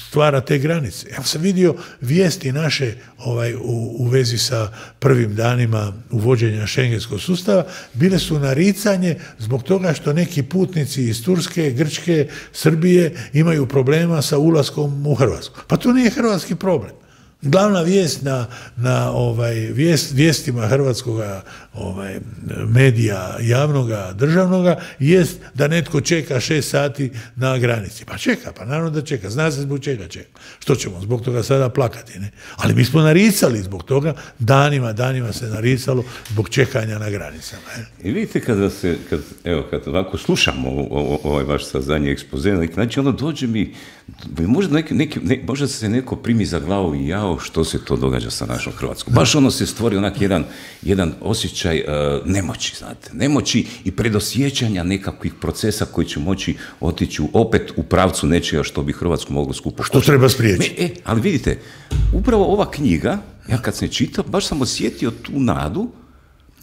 stvara te granice. Ja sam vidio vijesti naše ovaj, u, u vezi sa prvim danima uvođenja šengenskog sustava, bile su naricanje zbog toga što neki putnici iz Turske, Grčke, Srbije imaju problema sa ulaskom u Hrvatsku. Pa to nije hrvatski problem. Glavna vijest na, na ovaj, vijest, vijestima hrvatskoga ovaj, medija javnoga, državnoga, jest da netko čeka šest sati na granici. Pa čeka, pa naravno da čeka. Zna se zbog čega čeka. Što ćemo zbog toga sada plakati, ne? Ali mi smo naricali zbog toga, danima, danima se naricalo zbog čekanja na granicama. Ne? I vidite kada se, kad, evo, kad ovako slušamo ovaj vaš zadnji ekspoze, znači ono dođe mi možda, neki, neki, ne, možda se neko primi za glavu i jao što se to događa sa našom Hrvatskom. Baš ono se stvori onak jedan, jedan osjećaj uh, nemoći, znate, nemoći i predosjećanja nekakvih procesa koji će moći otići opet u pravcu nečega što bi Hrvatsku moglo skupo. Što treba spriječiti. E, ali vidite, upravo ova knjiga, ja kad sam je čitao, baš sam osjetio tu nadu,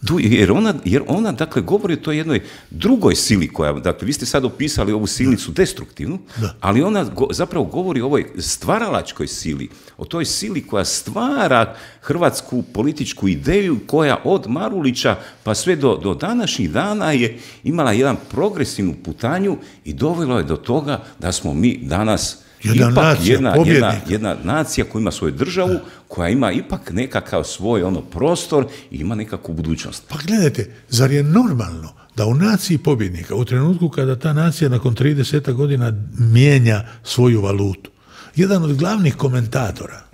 tu, jer, ona, jer ona, dakle, govori o toj jednoj drugoj sili koja, dakle, vi ste sad opisali ovu silnicu destruktivnu, da. Ali ona go, zapravo govori o ovoj stvaralačkoj sili, o toj sili koja stvara hrvatsku političku ideju koja od Marulića pa sve do, do današnjih dana je imala jedan progresivnu putanju i dovelo je do toga da smo mi danas Jedna ipak nacija, jedna, jedna, jedna nacija koja ima svoju državu, koja ima ipak nekakav svoj ono prostor i ima nekakvu budućnost. Pa gledajte, zar je normalno da u naciji pobjednika, u trenutku kada ta nacija nakon trideset godina mijenja svoju valutu, jedan od glavnih komentatora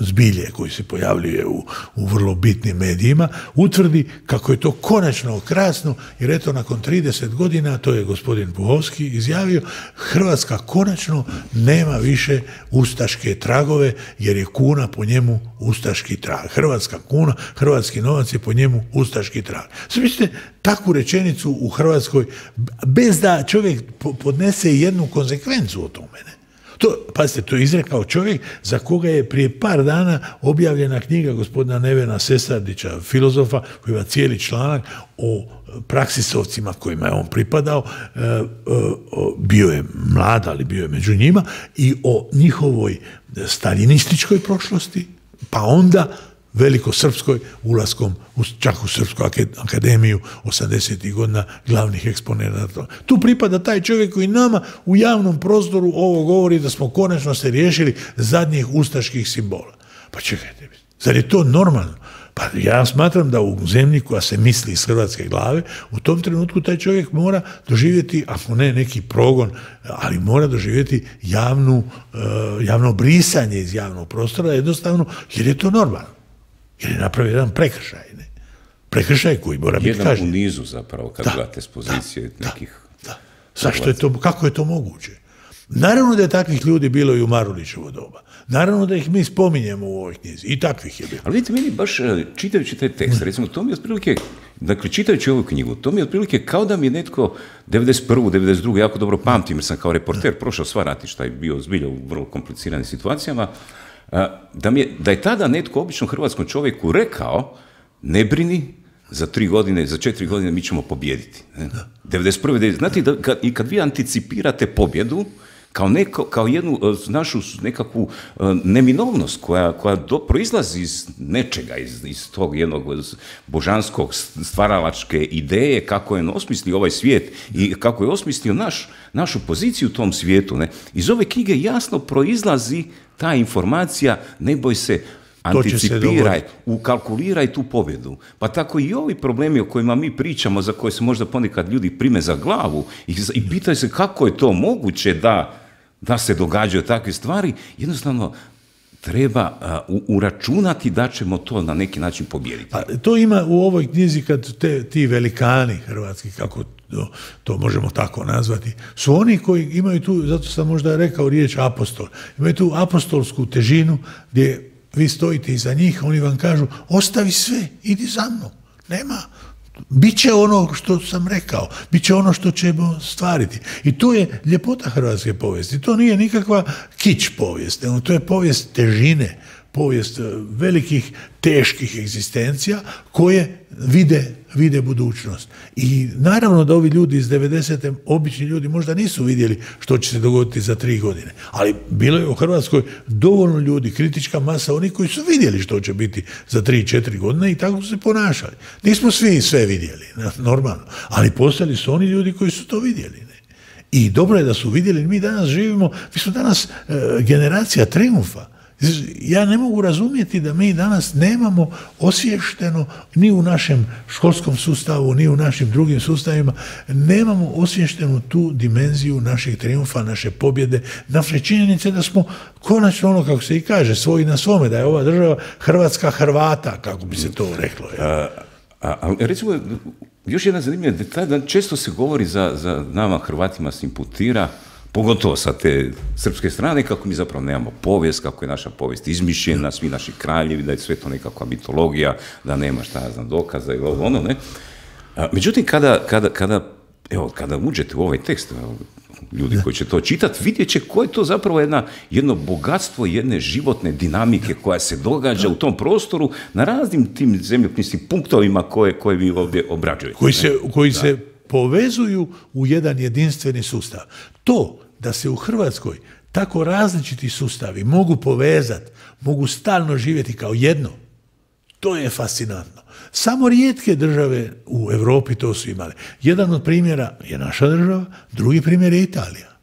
zbilje koji se pojavljuje u, u vrlo bitnim medijima, utvrdi kako je to konačno krasno, jer eto nakon trideset godina, to je gospodin Puhovski izjavio, Hrvatska konačno nema više ustaške tragove, jer je kuna po njemu ustaški trag. Hrvatska kuna, hrvatski novac je po njemu ustaški trag. Mislite, takvu rečenicu u Hrvatskoj, bez da čovjek podnese jednu konsekvencu o tome, ne? To, pazite, to je izrekao čovjek za koga je prije par dana objavljena knjiga gospodina Nevena Sesardića, filozofa, koji ima cijeli članak o praksisovcima kojima je on pripadao, e, e, bio je mlad, ali bio je među njima, i o njihovoj staljinističkoj prošlosti, pa onda velikosrpskoj ulaskom u, čak u Srpsku akademiju osamdesetih godina glavnih eksponenata. Tu pripada taj čovjek koji nama u javnom prostoru ovo govori da smo konačno se riješili zadnjih ustaških simbola. Pa čekajte, zar je to normalno? Pa ja smatram da u zemlji koja se misli iz hrvatske glave, u tom trenutku taj čovjek mora doživjeti, ako ne neki progon, ali mora doživjeti javnu, javno brisanje iz javnog prostora, jednostavno, jer je to normalno. Jer je napravio jedan prekršaj, ne? Prekršaj koji mora biti kažnjen. Jedan u nizu zapravo, kad gledate s pozicije da, nekih... Da, da. Zašto je to, kako je to moguće? Naravno da je takvih ljudi bilo i u Marulićevo doba. Naravno da ih mi spominjemo u ovoj knjizi. I takvih je bilo. Ali vidite, meni baš čitajući taj tekst, recimo, to mi je otprilike, dakle, čitajući ovu knjigu, to mi je otprilike kao da mi je netko devedeset prvu, devedeset drugu jako dobro pamtim, jer sam kao reporter prošao sva ratišta i bio zbilja u vrlo kompliciranim situacijama, Da, mi je, da je tada netko običnom hrvatskom čovjeku rekao, ne brini, za tri godine, za četiri godine mi ćemo pobijediti. devedeset prve Znate, da, kad, i kad vi anticipirate pobjedu, kao, neko, kao jednu našu nekakvu neminovnost koja, koja do, proizlazi iz nečega, iz, iz tog jednog božanskog stvaralačke ideje, kako je osmislio ovaj svijet i kako je osmislio naš, našu poziciju u tom svijetu. Ne? Iz ove knjige jasno proizlazi ta informacija, ne boj se, anticipiraj, ukalkuliraj tu pobjedu. Pa tako i ovi problemi o kojima mi pričamo, za koje se možda ponekad ljudi prime za glavu i, i pitaju se kako je to moguće da, da se događaju takve stvari, jednostavno treba uh, uračunati da ćemo to na neki način pobijediti. A to ima u ovoj knjizi kad te, ti velikani hrvatski, kako to, to možemo tako nazvati, su oni koji imaju tu, zato sam možda rekao riječ apostol, imaju tu apostolsku težinu gdje vi stojite iza njih, oni vam kažu ostavi sve, idi za mnom, nema, bit će ono što sam rekao, bit će ono što ćemo stvariti. I to je ljepota hrvatske povijesti, to nije nikakva kič povijest, to je povijest težine, povijest velikih, teških egzistencija koje vide, vide budućnost. I naravno da ovi ljudi iz devedesete obični ljudi možda nisu vidjeli što će se dogoditi za tri godine, ali bilo je u Hrvatskoj dovoljno ljudi, kritička masa, oni koji su vidjeli što će biti za tri, četiri godine i tako su se ponašali. Nismo svi sve vidjeli, normalno, ali postali su oni ljudi koji su to vidjeli. Ne? I dobro je da su vidjeli, mi danas živimo, mi smo danas e, generacija trijumfa. Ja ne mogu razumjeti da mi danas nemamo osvješteno ni u našem školskom sustavu, ni u našim drugim sustavima, nemamo osvještenu tu dimenziju naših trijumfa, naše pobjede, naše činjenice da smo konačno ono, kako se i kaže, svoji na svome, da je ova država Hrvatska Hrvata, kako bi se to reklo. Ja. A, a, a recimo, još jedna zanimljiva detalj, da često se govori za, za nama Hrvatima se imputira pogotovo sa te srpske strane, kako mi zapravo nemamo povijest, kako je naša povijest izmišljena, svi naši kraljevi, da je sve to nekakva mitologija, da nema šta ja znam dokaza i ono, ne. A, međutim, kada, kada, kada, evo, kada uđete u ovaj tekst, evo, ljudi koji će to čitati, vidjet će koje je to zapravo jedna, jedno bogatstvo jedne životne dinamike koja se događa u tom prostoru na raznim tim zemljopisnim punktovima koje, koje vi ovdje obrađujete. Koji se, koji se povezuju u jedan jedinstveni sustav. To da se u Hrvatskoj tako različiti sustavi mogu povezati, mogu stalno živjeti kao jedno, to je fascinantno. Samo rijetke države u Europi to su imale. Jedan od primjera je naša država, drugi primjer je Italija.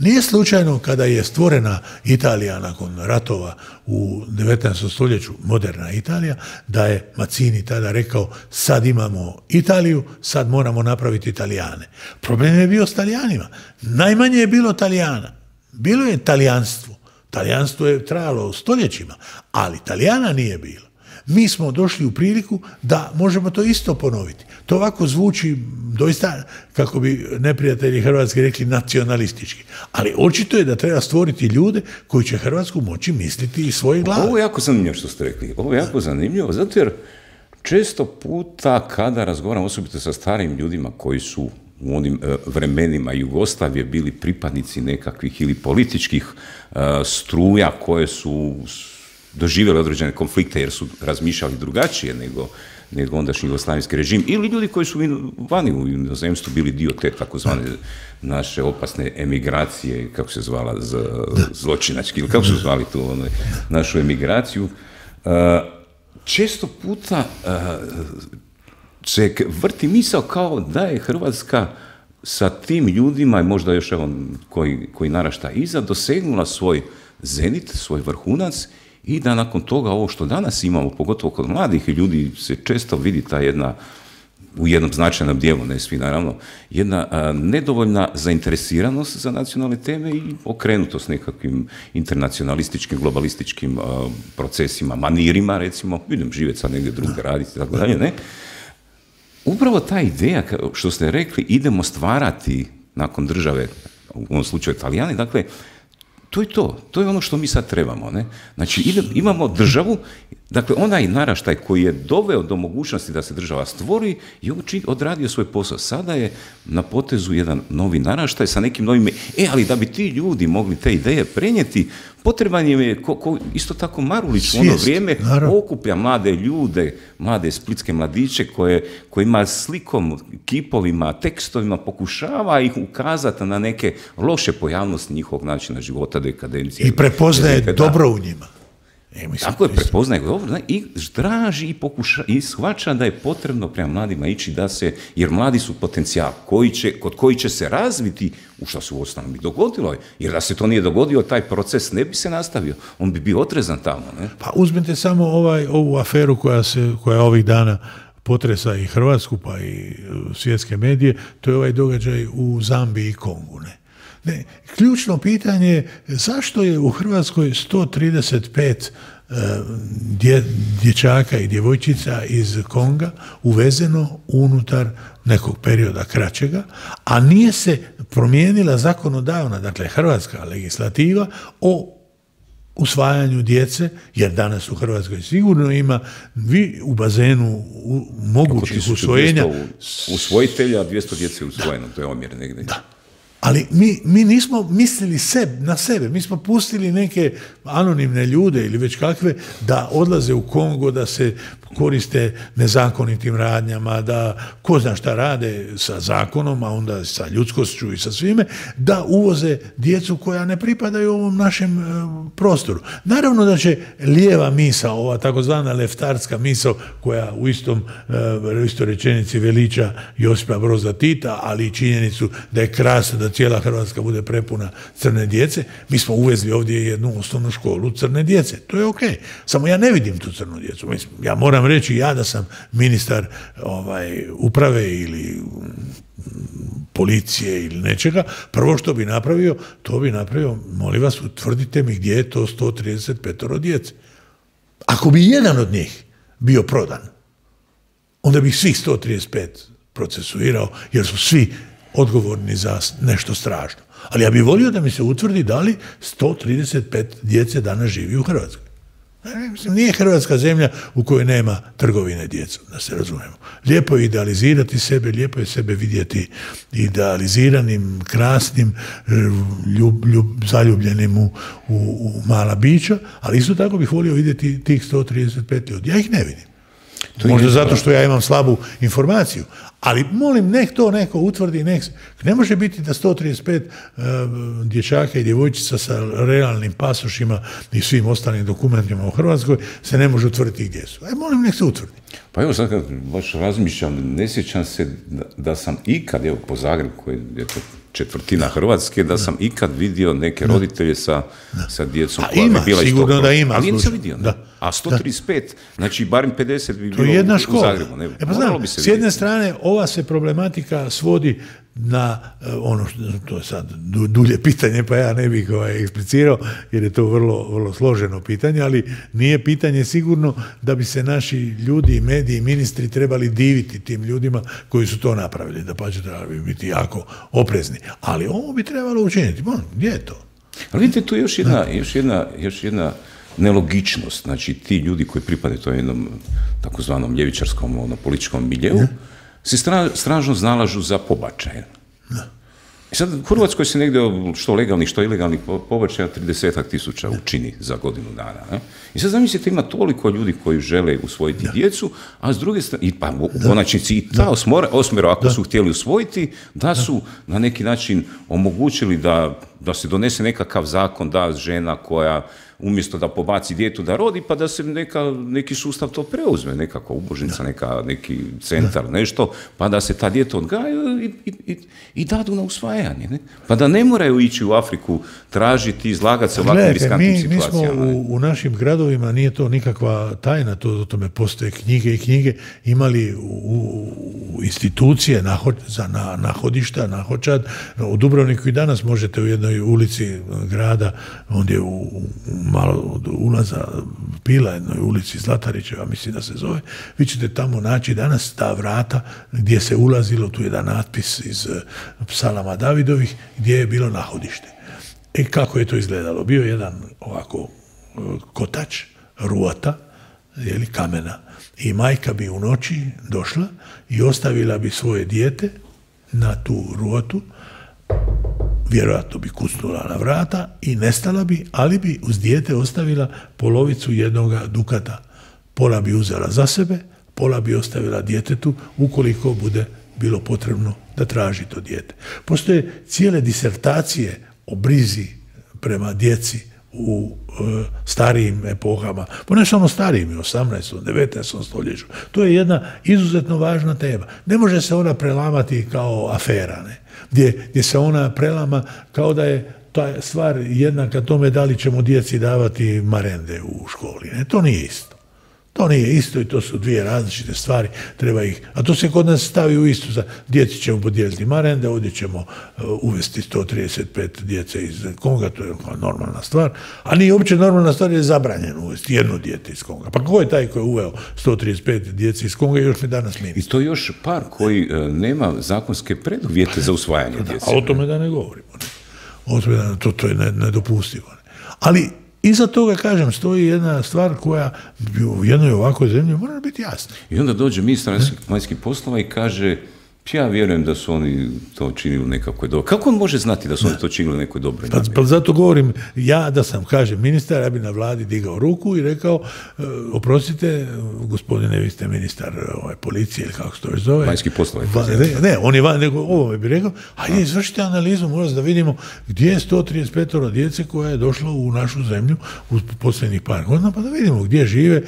Nije slučajno kada je stvorena Italija nakon ratova u devetnaestom stoljeću, moderna Italija, da je Mazzini tada rekao sad imamo Italiju, sad moramo napraviti Italijane. Problem je bio s Talijanima. Najmanje je bilo Talijana. Bilo je talijanstvo. Talijanstvo je trajalo stoljećima, ali Talijana nije bilo. Mi smo došli u priliku da možemo to isto ponoviti. To ovako zvuči doista, kako bi neprijatelji Hrvatske rekli, nacionalistički. Ali očito je da treba stvoriti ljude koji će Hrvatsku moći misliti iz svoje glave. Ovo je jako zanimljivo što ste rekli. Ovo je jako zanimljivo, zato jer često puta kada razgovaram osobito sa starim ljudima koji su u onim vremenima Jugoslavije bili pripadnici nekakvih ili političkih struja koje su doživjeli određene konflikte jer su razmišljali drugačije nego, nego ondašnji jugoslavenski režim, ili ljudi koji su vani u inozemstvu bili dio te takozvane naše opasne emigracije, kako se zvala, z, zločinački, ili kako su zvali tu ono, našu emigraciju. Uh, često puta uh, se vrti misao kao da je Hrvatska sa tim ljudima, i možda još evo koji, koji narašta iza, dosegnula svoj zenit, svoj vrhunac, i da nakon toga ovo što danas imamo, pogotovo kod mladih ljudi, se često vidi ta jedna, u jednom značajnom dijelu, ne svi naravno, jedna a, nedovoljna zainteresiranost za nacionalne teme i okrenutost nekakvim internacionalističkim, globalističkim a, procesima, manirima, recimo, vidim, živjeti sad negdje drugdje raditi, tako dalje, ne? Upravo ta ideja, što ste rekli, idemo stvarati nakon države, u ovom slučaju Italijani, dakle, to je to, to je ono što mi sad trebamo, ne? Znači, idem, imamo državu, dakle, onaj naraštaj koji je doveo do mogućnosti da se država stvori je odradio svoj posao. Sada je na potezu jedan novi naraštaj sa nekim novim... E, ali da bi ti ljudi mogli te ideje prenijeti, potreban je, ko, ko, isto tako Marulić u ono vrijeme naravno okuplja mlade ljude, mlade splitske mladiće koje, kojima slikom, kipovima, tekstovima pokušava ih ukazati na neke loše pojavnosti njihovog načina života, dekadencije. I prepoznaje dobro u njima. E, mislim, tako je, prepoznaje dobro i traži i pokuša i shvaća da je potrebno prema mladima ići da se, jer mladi su potencijal koji će, kod koji će se razviti, u što se u osnovu bi dogodilo, jer da se to nije dogodio, taj proces ne bi se nastavio, on bi bio otrezan tamo. Ne? Pa uzmite samo ovaj, ovu aferu koja se, koja ovih dana potresa i Hrvatsku, pa i svjetske medije, to je ovaj događaj u Zambiji i Kongu, ne? Ne, ključno pitanje je zašto je u Hrvatskoj sto trideset pet uh, dje, dječaka i djevojčica iz Konga uvezeno unutar nekog perioda kraćega, a nije se promijenila zakonodavna, dakle hrvatska legislativa o usvajanju djece, jer danas u Hrvatskoj sigurno ima vi u bazenu u, mogućih usvojenja. Usvojitelja, dvjesto djece usvojeno, to je omjer negdje. Da. Ali mi, mi nismo mislili seb, na sebe, mi smo pustili neke anonimne ljude ili već kakve da odlaze u Kongo, da se koriste nezakonitim radnjama, da ko zna šta rade sa zakonom, a onda sa ljudskošću i sa svime, da uvoze djecu koja ne pripadaju ovom našem e, prostoru. Naravno da će lijeva misao, ova takozvana leftarska misao, koja u istom e, istoj rečenici veliča Josipa Broza Tita, ali i činjenicu da je krasno da cijela Hrvatska bude prepuna crne djece, mi smo uvezli ovdje jednu osnovnu školu crne djece. To je okej. Samo ja ne vidim tu crnu djecu. Mislim, ja moram reći, ja da sam ministar ovaj, uprave ili policije ili nečega, prvo što bi napravio, to bi napravio, molim vas, utvrdite mi gdje je to sto trideset pet djece. Ako bi jedan od njih bio prodan, onda bih svih sto trideset pet procesuirao, jer su svi odgovorni za nešto strašno. Ali ja bih volio da mi se utvrdi da li sto trideset pet djece danas živi u Hrvatskoj. Mislim, nije Hrvatska zemlja u kojoj nema trgovine djecom, da se razumemo. Lijepo je idealizirati sebe, lijepo je sebe vidjeti idealiziranim, krasnim, ljub, ljub, zaljubljenim u, u, u mala bića, ali isto tako bih volio vidjeti tih sto trideset pet ljudi. Ja ih ne vidim. To možda zato što ja imam slabu informaciju, ali molim, nek to neko utvrdi, nek... Ne može biti da sto trideset pet uh, dječaka i djevojčica sa realnim pasošima i svim ostalim dokumentima u Hrvatskoj se ne može utvrditi gdje su. Aj, molim, nek se utvrdi. Pa evo sad kad baš razmišljam, ne sjećam se da, da sam ikad, evo po Zagrebu, koji je to četvrtina Hrvatske, da sam ikad vidio neke roditelje sa, sa djecom koja ima, bi bila sigurno isto. Da ima. Ali nisam vidio. Da. A sto trideset pet, znači barem pedeset bi to bilo jedna u, škola. u Zagrebu. Ne, e pa znam, bi se s jedne vidjeti. strane ova se problematika svodi na ono što, to je sad dulje pitanje, pa ja ne bih ovaj, eksplicirao, jer je to vrlo, vrlo složeno pitanje, ali nije pitanje sigurno da bi se naši ljudi, mediji, ministri trebali diviti tim ljudima koji su to napravili, da pa će trebali biti jako oprezni. Ali ovo bi trebalo učiniti. Bon, gdje je to? Ali vidite, tu je još jedna, još jedna, još jedna nelogičnost. Znači, ti ljudi koji pripadaju to jednom takozvanom ljevičarskom ono, političkom miljeu, se stra, stražno znalažu za pobačaje. I sad u Hrvatskoj se negdje što legalnih, što ilegalnih pobačaja tridesetak tisuća učini za godinu dana. Ne? I sad zamislite, ima toliko ljudi koji žele usvojiti da. djecu, a s druge strane, i pa u konačnici i ta osmora, osmero, ako da. su htjeli usvojiti, da su na neki način omogućili da, da se donese nekakav zakon da žena koja umjesto da pobaci djetu da rodi, pa da se neka, neki sustav to preuzme, nekakva ubožnica, neka, neki centar, da. nešto, pa da se ta djeta odgajaju i, i, i, i dadu na usvajanje. Ne? Pa da ne moraju ići u Afriku tražiti, izlagati se ovakvim riskantnim mi, situacijama. Mi smo u, u našim gradovima, nije to nikakva tajna, to o tome postoje knjige i knjige, imali u, u institucije naho, za na, nahodišta, nahočad. U Dubrovniku i danas možete u jednoj ulici grada, ondje u, u malo od ulaza Pila, jednoj ulici Zlatarićeva, mislim da se zove, vi ćete tamo naći danas ta vrata gdje se ulazilo, tu je jedan natpis iz psalama Davidovih, gdje je bilo nahodište. E kako je to izgledalo? Bio je jedan ovako kotač, ruota, jeli, kamena, i majka bi u noći došla i ostavila bi svoje dijete na tu ruotu, vjerojatno bi kucnula na vrata i nestala bi, ali bi uz dijete ostavila polovicu jednoga dukata. Pola bi uzela za sebe, pola bi ostavila djetetu ukoliko bude bilo potrebno da traži to dijete. Postoje cijele disertacije o brizi prema djeci u e, starijim epohama, pa ne samo starijim, osamnaestom, devetnaestom stoljeću. To je jedna izuzetno važna tema. Ne može se ona prelamati kao afera, ne? Gdje, gdje se ona prelama kao da je ta stvar jednaka tome da li ćemo djeci davati marende u školi. Ne? To nije isto. To nije isto i to su dvije različite stvari, treba ih, a to se kod nas stavi u istu, za djeci ćemo podijeliti marende, ovdje ćemo uh, uvesti sto trideset pet djece iz Konga, to je normalna stvar, a nije uopće normalna stvar, je zabranjeno uvesti jedno dijete iz Konga. Pa ko je taj koji je uveo sto trideset pet djece iz Konga i još mi danas ministar? I to još par koji uh, nema zakonske preduvjete za usvajanje djece. A o tome da ne govorimo. Ne? O tome da to, to je nedopustivo. Ne? Ali iza toga, kažem, stoji jedna stvar koja u jednoj ovakvoj zemlji mora biti jasna. I onda dođe ministar vanjskih poslova i kaže, ja vjerujem da su oni to činili u nekakvoj dobroj. Kako on može znati da su ne. oni to činili u nekoj dobroj namjeri? Pa, pa zato govorim, ja da sam, kažem, ministar, ja bi na vladi digao ruku i rekao, e, oprostite, gospodine, vi ste ministar ovaj, policije ili kako se to već zove. Vanjskih poslova. Va, ne, ne, on je van, nego ovo bi rekao, ajde, izvršite analizu, možda da vidimo gdje je sto trideset pet djece koja je došla u našu zemlju u posljednjih par godina, pa da vidimo gdje žive,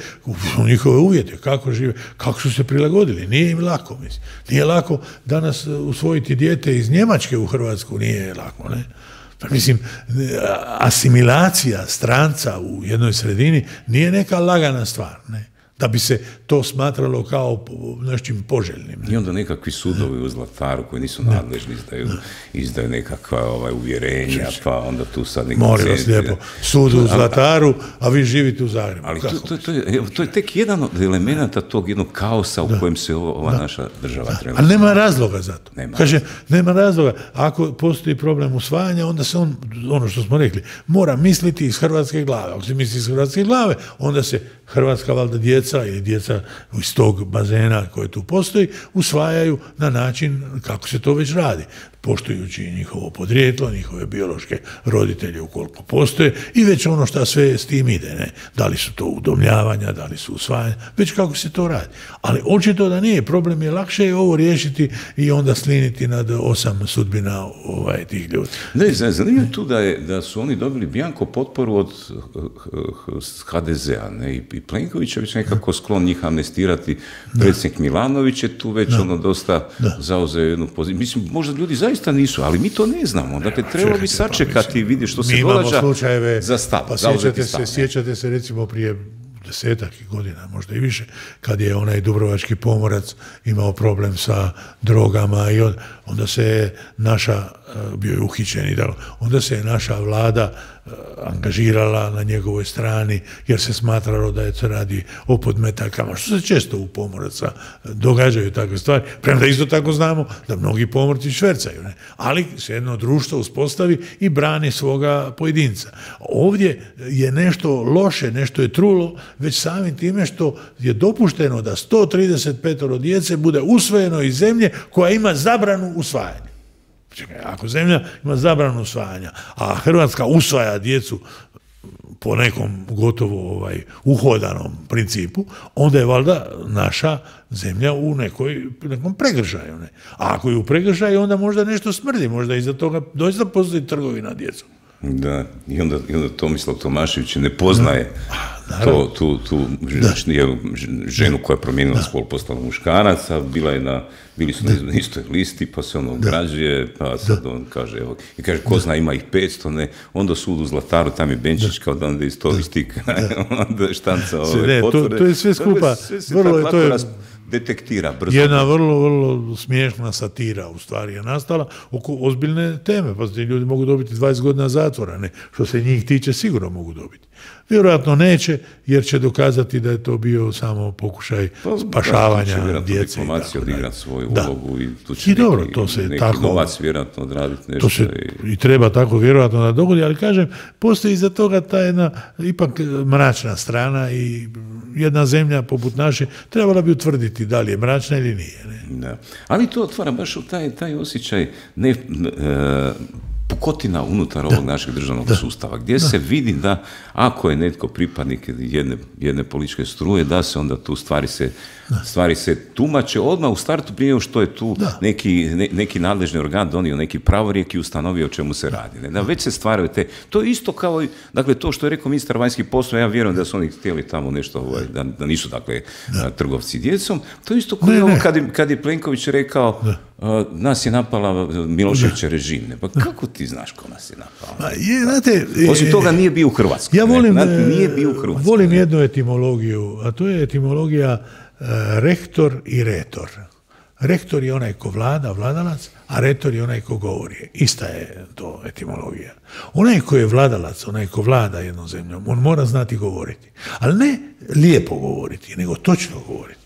u njihove uvjete, kako žive, kako su se prilagodili. Nije im lako, mislim. Nije lako danas usvojiti dijete iz Njemačke u Hrvatsku, nije lako, ne? Pa mislim, asimilacija stranca u jednoj sredini nije neka lagana stvar, ne? da bi se to smatralo kao nečim poželjnim. I onda nekakvi sudovi u Zlataru koji nisu nadležni izdaju, izdaju nekakva ovaj, uvjerenja, pa onda tu sad neki... Molim vas lijepo, sud u Zlataru, a vi živite u Zagrebu. Ali to, to, to, je, to je tek jedan od elemenata tog jednog kaosa u da. kojem se ova da. naša država trenutno. Ali nema razloga za to. Nema. Kaže, nema razloga. Ako postoji problem usvajanja, onda se on, ono što smo rekli, mora misliti iz hrvatske glave. Ako se misli iz hrvatske glave, onda se hrvatska valjda djeca ili djeca iz tog bazena koje tu postoji usvajaju na način kako se to već radi, poštujući njihovo podrijetlo, njihove biološke roditelje ukoliko postoje i već ono što sve s tim ide. Ne? Da li su to udomljavanja, da li su usvajanja, već kako se to radi. Ali očito da nije, problem je lakše je ovo riješiti i onda sliniti nad osam sudbina ovaj, tih ljudi. Ne, zanimljivo tu da, je, da su oni dobili bjanko potporu od ha de zea, ne, i Plenković je već nekako sklon njih amnestirati, predsjednik Milanović je tu već da. ono dosta da. zauzeo jednu poziciju. Mislim, možda ljudi zaista nisu, ali mi to ne znamo. Dakle, trebalo bi sačekati i vidjeti što se događa za stav. Pa sjećate se, sjećate se recimo prije desetak godina, možda i više, kad je onaj dubrovački pomorac imao problem sa drogama i onda se je naša, bio je uhićen i tako, onda se je naša vlada angažirala na njegovoj strani jer se smatralo da je se radi o podmetakama, što se često u pomoraca događaju takve stvari, premda isto tako znamo da mnogi pomorci švercaju, ne? Ali se jedno društvo uspostavi i brani svoga pojedinca. Ovdje je nešto loše, nešto je trulo, već samim time što je dopušteno da sto trideset pet djece bude usvojeno iz zemlje koja ima zabranu usvajanja. Čekaj, ako zemlja ima zabranu usvajanja, a Hrvatska usvaja djecu po nekom gotovo ovaj, uhodanom principu, onda je valjda naša zemlja u nekoj, nekom pregršaju. Ne? A ako je u pregršaju, onda možda nešto smrdi, možda iza toga doista postoji trgovina djecom. Da, i onda, i onda Tomislav Tomašević ne poznaje to, tu, tu ženu koja je promijenila spol, postala muškarac, a bila je na, bili su na istoj listi, pa se ono ograđuje, pa sad on kaže, evo, i kaže, ko zna, ima ih petsto, ne, onda sud u Zlataru, tam je Benčić, kao da onda iz tog istika, onda štanca ove potvrde. To je sve skupa, vrlo je, to je detektira brzo. Jedna vrlo, vrlo smiješna satira u stvari je nastala oko ozbiljne teme, pa ti ljudi mogu dobiti dvadeset godina zatvora, ne, što se njih tiče sigurno mogu dobiti. Vjerojatno neće, jer će dokazati da je to bio samo pokušaj pa, spašavanja da, djece. Diplomacija odigrati svoju da. ulogu i tu će I neki, dobro, to se neki tako, novac vjerojatno odraditi nešto. To se i... i treba tako vjerojatno da dogodi, ali kažem, postoji iza toga ta jedna ipak mračna strana i jedna zemlja poput naše trebala bi utvrditi da li je mračna ili nije. Ne? Da. Ali to otvara baš u taj, taj osjećaj ne, e, pukotina unutar ovog da. našeg državnog da. sustava, gdje da. se vidi da ako je netko pripadnik jedne, jedne političke struje, da se onda tu stvari se, stvari se tumače odmah u startu prije što je tu neki, ne, neki nadležni organ donio neki pravorijek i ustanovio o čemu se radi. Ne? Da već se stvaraju te, to je isto kao, dakle, to što je rekao ministar vanjskih poslova, ja vjerujem da su oni htjeli tamo nešto, ovaj, da, da nisu, dakle, da. trgovci djecom, to je isto kao ne, ovo kad je, kad je Plenković rekao, uh, nas je napala Miloševićev režim. Ne? Pa kako ti znaš ko nas je napala? Je, znate, osim toga nije bio u Hrvatskoj. Ja volim, ne? Nije bio u Hrvatskoj. Volim jednu etimologiju, a to je etimologija uh, rektor i retor. Rektor je onaj ko vlada, vladalac, a retor je onaj ko govori. Ista je to etimologija. Onaj ko je vladalac, onaj ko vlada jednom zemljom, on mora znati govoriti. Ali ne lijepo govoriti, nego točno govoriti.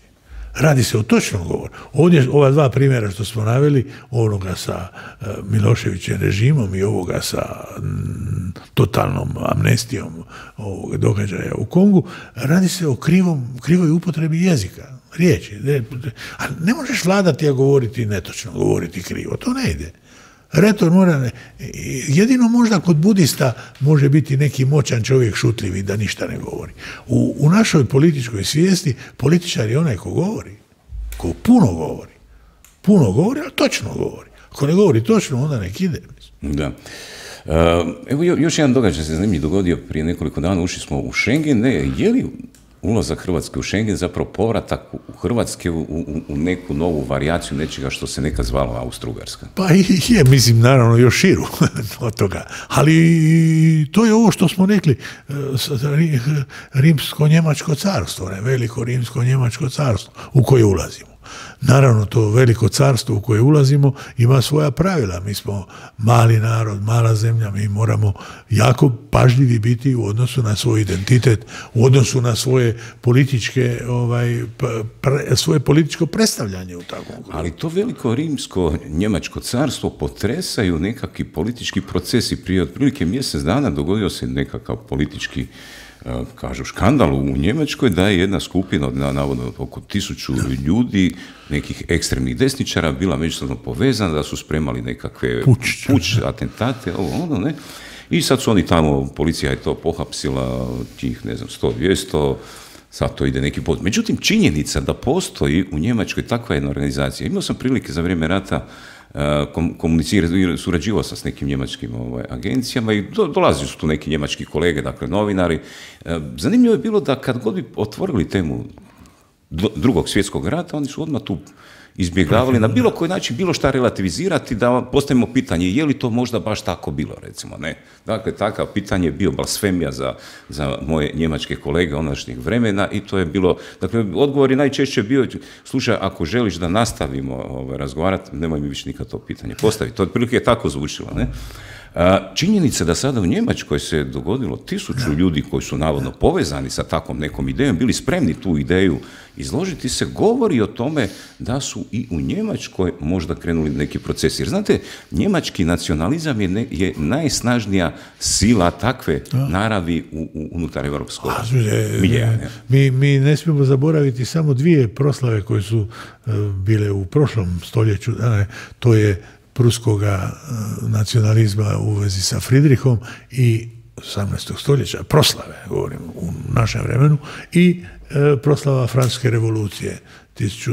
Radi se o točnom govoru. Ovdje ova dva primjera što smo naveli, onoga sa uh, Miloševićem režimom i ovoga sa m, totalnom amnestijom ovog događaja u Kongu, radi se o krivom, krivoj upotrebi jezika, riječi. Ne, a ne možeš vladati, a govoriti netočno, govoriti krivo. To ne ide. Retor mora, ne, jedino možda kod budista može biti neki moćan čovjek šutljivi da ništa ne govori. U, u našoj političkoj svijesti političar je onaj ko govori, ko puno govori. Puno govori, ali točno govori. Ako ne govori točno, onda nek ide. Da. Uh, evo još jedan događaj se zanimljiv dogodio prije nekoliko dana, ušli smo u Schengen, ne, je li ulazak Hrvatske u Schengen, zapravo povratak u Hrvatske u, u, u neku novu varijaciju nečega što se nekad zvalo Austro-Ugarska. Pa i je, mislim, naravno još širu od toga. Ali to je ovo što smo rekli, rimsko-njemačko carstvo, ne, veliko rimsko-njemačko carstvo u koje ulazimo. Naravno, to veliko carstvo u koje ulazimo ima svoja pravila. Mi smo mali narod, mala zemlja, mi moramo jako pažljivi biti u odnosu na svoj identitet, u odnosu na svoje političke, ovaj, pre, svoje političko predstavljanje u takvom. Ali to veliko rimsko-njemačko carstvo potresaju nekakvi politički procesi. Prije otprilike mjesec dana dogodio se nekakav politički, kažu, škandal u Njemačkoj, da je jedna skupina od navodno oko tisuću ljudi, nekih ekstremnih desničara, bila međusobno povezana, da su spremali nekakve puč, puč atentate, ovo, ono, ne. I sad su oni tamo, policija je to pohapsila, tih, ne znam, sto dvjesto, sad to ide neki put. Međutim, činjenica da postoji u Njemačkoj takva jedna organizacija. Imao sam prilike za vrijeme rata komunicirati, surađivao sam s nekim njemačkim ovaj, agencijama i do, dolazili su tu neki njemački kolege, dakle novinari. Zanimljivo je bilo da kad god bi otvorili temu drugog svjetskog rata, oni su odmah tu izbjegavali na bilo koji način, bilo šta relativizirati, da postavimo pitanje je li to možda baš tako bilo, recimo, ne. Dakle, takav pitanje je bio blasfemija za, za moje njemačke kolege onašnjeg vremena i to je bilo, dakle, odgovor je najčešće bio, slušaj, ako želiš da nastavimo ovaj, razgovarati, nemoj mi više nikad to pitanje postaviti. To otprilike je tako zvučilo, ne. Činjenica da sada u Njemačkoj se dogodilo tisuću ljudi koji su navodno povezani sa takvom nekom idejom, bili spremni tu ideju izložiti se, govori o tome da su i u Njemačkoj možda krenuli neki procesi. Jer znate, njemački nacionalizam je, ne, je najsnažnija sila takve naravi u, u, unutar evropskog miljeja. Mi, mi ne smijemo zaboraviti samo dvije proslave koje su uh, bile u prošlom stoljeću. Ne, to je pruskoga nacionalizma u vezi sa Fridrihom i osamnaestog stoljeća, proslave, govorim, u našem vremenu, i e, proslava Francuske revolucije tisuću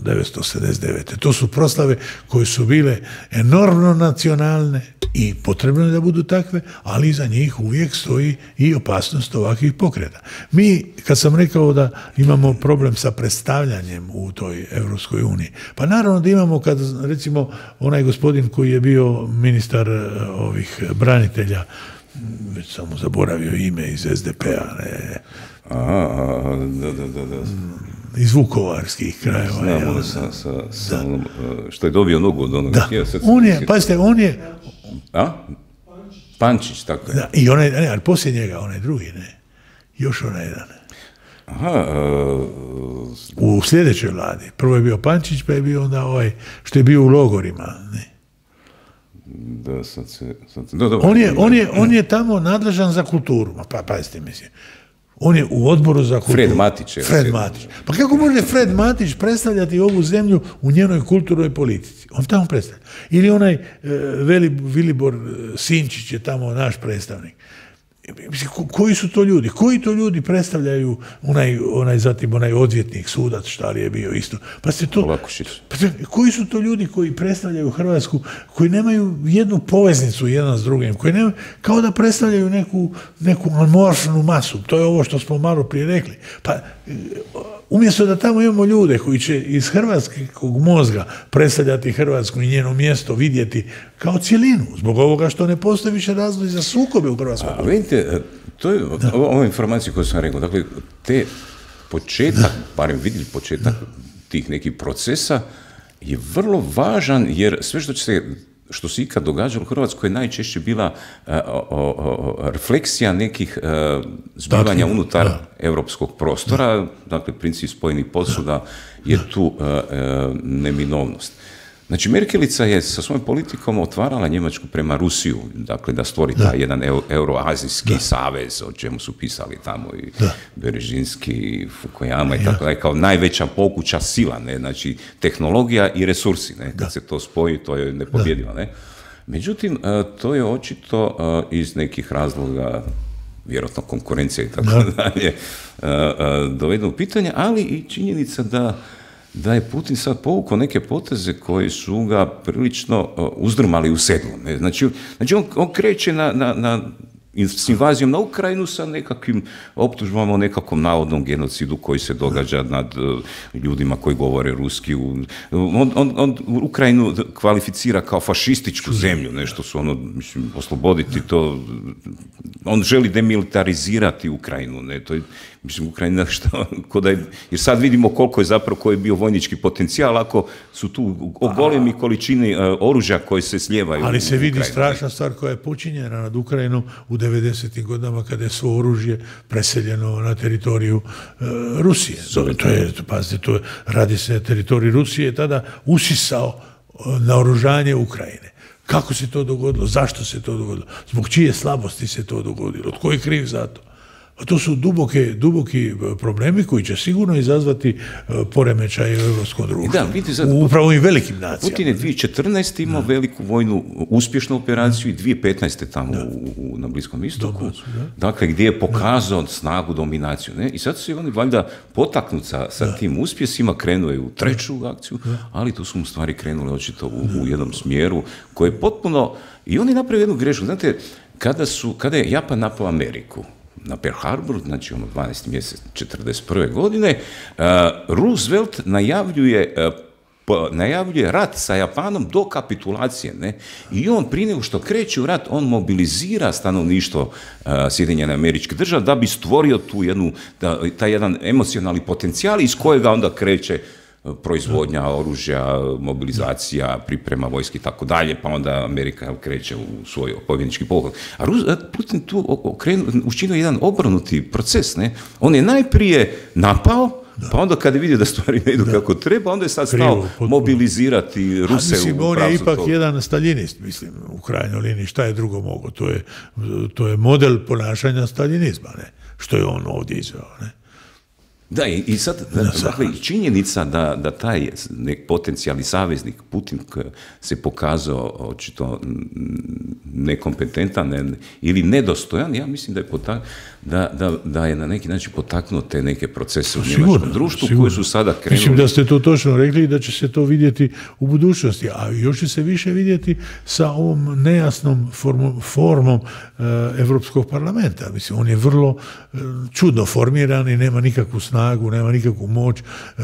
devetsto sedamdeset devete. To su proslave koje su bile enormno nacionalne i potrebno je da budu takve, ali iza njih uvijek stoji i opasnost ovakvih pokreta. Mi, kad sam rekao da imamo problem sa predstavljanjem u toj Europskoj uniji, pa naravno da imamo kad, recimo, onaj gospodin koji je bio ministar ovih branitelja, već sam mu zaboravio ime, iz es de pe-a, ne... Aha, da, da, da, da. Iz vukovarskih krajeva. Znamo da, sa, sa, sa onom, što je dobio nogu od onoga. Da, on je, pazite, on je... A? Pančić, tako je. Da, i onaj, ne, ali poslije njega, onaj drugi, ne. Još onaj jedan. Aha. Uh, u sljedećoj vladi. Prvo je bio Pančić, pa je bio onda ovaj, što je bio u logorima, ne. Da, sad se... Sad se do, do, on, je, on, je, on je tamo nadležan za kulturu. Pa, pazite, mislim. On je u odboru za kulturu. Fred Matić. Je Fred Matić. Pa kako može Fred Matić predstavljati ovu zemlju u njenoj kulturnoj politici? On tamo predstavlja. Ili onaj e, Veli, Vilibor Sinčić je tamo naš predstavnik. Mislim, ko, koji su to ljudi? Koji to ljudi predstavljaju onaj, onaj zatim onaj odvjetnik, sudac, šta li je bio isto? Pa ste to... Pa ste, koji su to ljudi koji predstavljaju Hrvatsku, koji nemaju jednu poveznicu jedan s drugim, koji nemaju, kao da predstavljaju neku, neku amorfnu masu. To je ovo što smo malo prije rekli. Pa umjesto da tamo imamo ljude koji će iz hrvatskog mozga predstavljati Hrvatsku i njeno mjesto vidjeti kao cjelinu, zbog ovoga što ne postoji više razlozi za sukobe u Hrvatskoj. A vidite, to je ova informacija koju sam rekao, dakle, te početak, barem vidjeli početak tih nekih procesa, je vrlo važan, jer sve što će se što se ikad događalo u Hrvatskoj je najčešće bila uh, o, o, refleksija nekih uh, zbivanja unutar da. Europskog prostora, da. Dakle, princip spojenih posuda je tu uh, uh, neminovnost. Znači, Merkelica je sa svojom politikom otvarala Njemačku prema Rusiju, dakle, da stvori da. taj jedan euroazijski da. savez, o čemu su pisali tamo i da. Berežinski, i Fukuyama i tako da, kao najveća pokuća sila, ne, znači, tehnologija i resursi, ne, kad da. se to spoji, to je nepobjedivo, ne. Međutim, to je očito iz nekih razloga, vjerojatno konkurencija i tako da. dalje, dovedeno u pitanje, ali i činjenica da da je Putin sad povukao neke poteze koji su ga prilično uh, uzdrmali u sedlu. Ne? Znači, znači on, on kreće na, na, na s invazijom na Ukrajinu sa nekakvim optužbama o nekakvom navodnom genocidu koji se događa nad uh, ljudima koji govore ruski. On, on, on Ukrajinu kvalificira kao fašističku zemlju, nešto su ono, mislim, osloboditi to. On želi demilitarizirati Ukrajinu, ne, to je, mislim, Ukrajina što, da je, jer sad vidimo koliko je zapravo, koji je bio vojnički potencijal, ako su tu golemi količini uh, oružja koje se slijevaju. Ali se vidi Ukrajinu. Strašna stvar koja je počinjena nad Ukrajinom u devedesetim godinama kada je svo oružje preseljeno na teritoriju e, Rusije. To, to je, pazite, to je, radi se na teritoriji Rusije, tada usisao naoružanje Ukrajine. Kako se to dogodilo? Zašto se to dogodilo? Zbog čije slabosti se to dogodilo? Tko je kriv za to? A to su duboke, duboki problemi koji će sigurno izazvati poremećaj u europskom društvu. Da, vidite, sad, upravo i velikim nacijama. Putin je dvije tisuće četrnaeste imao da. veliku vojnu, uspješnu operaciju i dvije tisuće petnaeste tamo u, u, na Bliskom istoku. Da. Dakle, gdje je pokazao da. snagu, dominaciju. Ne? I sad su oni valjda potaknut sa, sa tim uspjesima, krenuo je u treću da. akciju, da. ali tu su mu stvari krenule očito u, u jednom smjeru koji je potpuno... I oni napravili jednu grešku. Znate, kada, su, kada je Japan napao Ameriku, na Pearl Harbor, znači ono dvanaesti mjesec četrdeset prve godine, uh, Roosevelt najavljuje, uh, po, najavljuje rat sa Japanom do kapitulacije, ne? I on prije nego što kreće u rat, on mobilizira stanovništvo uh, Sjedinjene Američke Države da bi stvorio tu jednu, da, taj jedan emocionalni potencijal iz kojega onda kreće proizvodnja oružja, mobilizacija, priprema vojske i tako dalje, pa onda Amerika kreće u svoj pobjednički pogled. A Putin tu učinio jedan obrnuti proces, ne? On je najprije napao, da. pa onda kad je vidio da stvari ne idu da. kako treba, onda je sad stao mobilizirati Ruse. A mislim, on je ipak to. jedan staljinist, mislim, u krajnjoj liniji, šta je drugo mogo? To je, to je model ponašanja staljinizma, ne? Što je on ovdje izveo, ne? Da, i, i sad, da, dakle, činjenica da, da taj nek potencijalni saveznik Putin se pokazao očito nekompetentan ne, ili nedostojan, ja mislim da je, potak, da, da, da je na neki način potaknuo te neke procese u njemačkom društvu sigurno. koji su sada krenuli. Mislim da ste to točno rekli i da će se to vidjeti u budućnosti, a još će se više vidjeti sa ovom nejasnom formom, formom uh, Evropskog parlamenta. Mislim, on je vrlo uh, čudno formiran i nema nikakvu snagu, nema nikakvu moć.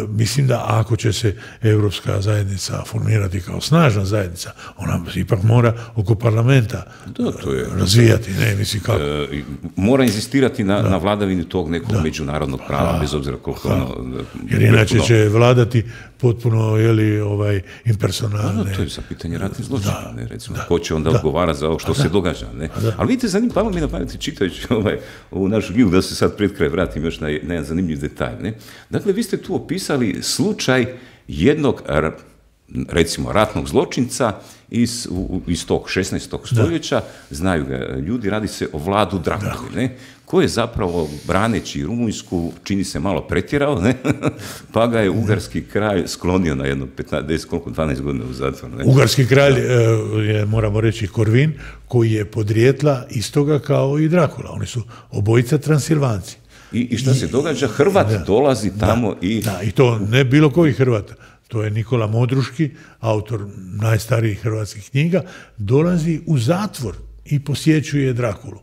Mislim da ako će se Europska zajednica formirati kao snažna zajednica, ona ipak mora oko parlamenta da, to je, razvijati. Ne, mislim kako. E, mora inzistirati na, na vladavini tog nekog da. međunarodnog prava, da. bez obzira koliko da. ono... Jer inače potpuno... će vladati potpuno, jeli, ovaj, impersonalne... Da, to je za pitanje ratnih zločina, ne, recimo. Da. Ko će onda da. odgovara za ovo što da. se događa, ne? Ali vidite, zanim, palo mi na pameti čitajući ovaj, ovu našu knjigu, da se sad pred kraj vratim još na, na jedan zanimljiv detalj, ne? Dakle, vi ste tu opisali slučaj jednog, recimo, ratnog zločinca iz, iz tog šesnaestog stoljeća, da. znaju ga ljudi, radi se o Vladu Drakuli, ne? Koji je zapravo, braneći Rumunjsku, čini se malo pretjerao, ne? pa ga je ugarski kralj sklonio na jedno petnaest, koliko, dvanaest godina u zatvor. Ne? Ugarski kralj je, moramo reći, Korvin, koji je podrijetla istoga kao i Drakula. Oni su obojica Transilvanci. I, I šta se događa? Hrvat da, dolazi tamo da, i... Da, i to ne bilo koji Hrvat. To je Nikola Modruški, autor najstarijih hrvatskih knjiga, dolazi u zatvor i posjećuje Drakulu.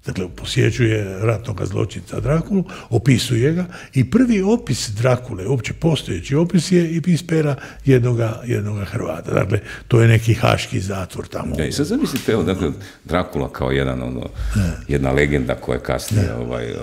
Dakle, posjećuje ratnog zločinca Drakulu, opisuje ga i prvi opis Drakule, uopće postojeći opis je iz pera jednoga, jednoga Hrvata. Dakle, to je neki haški zatvor tamo. Ja, i sad zamislite, evo, dakle, Drakula kao jedan, ono, jedna legenda koja je kasnije ovaj,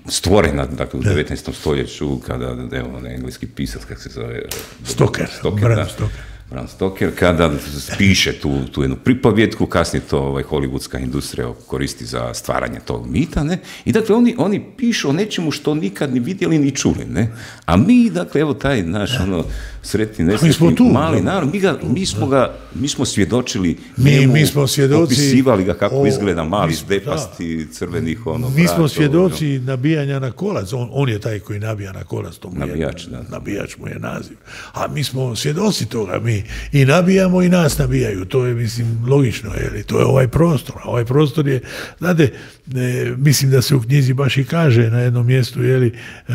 stvorena, dakle, u devetnaestom stoljeću, kada, evo, on engleski pisac, kako se zove... Stoker, Stoker, Bram Stoker. Bram Stoker, kada piše tu, tu jednu pripovjetku, kasnije to ovaj, hollywoodska industrija koristi za stvaranje tog mita, ne? I dakle, oni, oni pišu o nečemu što nikad ni vidjeli ni čuli, ne? A mi, dakle, evo taj naš, ono, sretni, nesretni, mali narod, mi, ga, mi, smo ga, mi smo svjedočili, mi, njemu, mi smo svjedoci, opisivali ga kako o, izgleda mali, zdepasti, crvenih, ono, mi smo svjedoci ono, nabijanja na kolac, on, on je taj koji nabija na kolac, to mu nabijač, je, da. nabijač mu je naziv. A mi smo svjedoci toga, mi i nabijamo i nas nabijaju, to je, mislim, logično, jer to je ovaj prostor, a ovaj prostor je, znate, e, mislim da se u knjizi baš i kaže na jednom mjestu, jeli, e,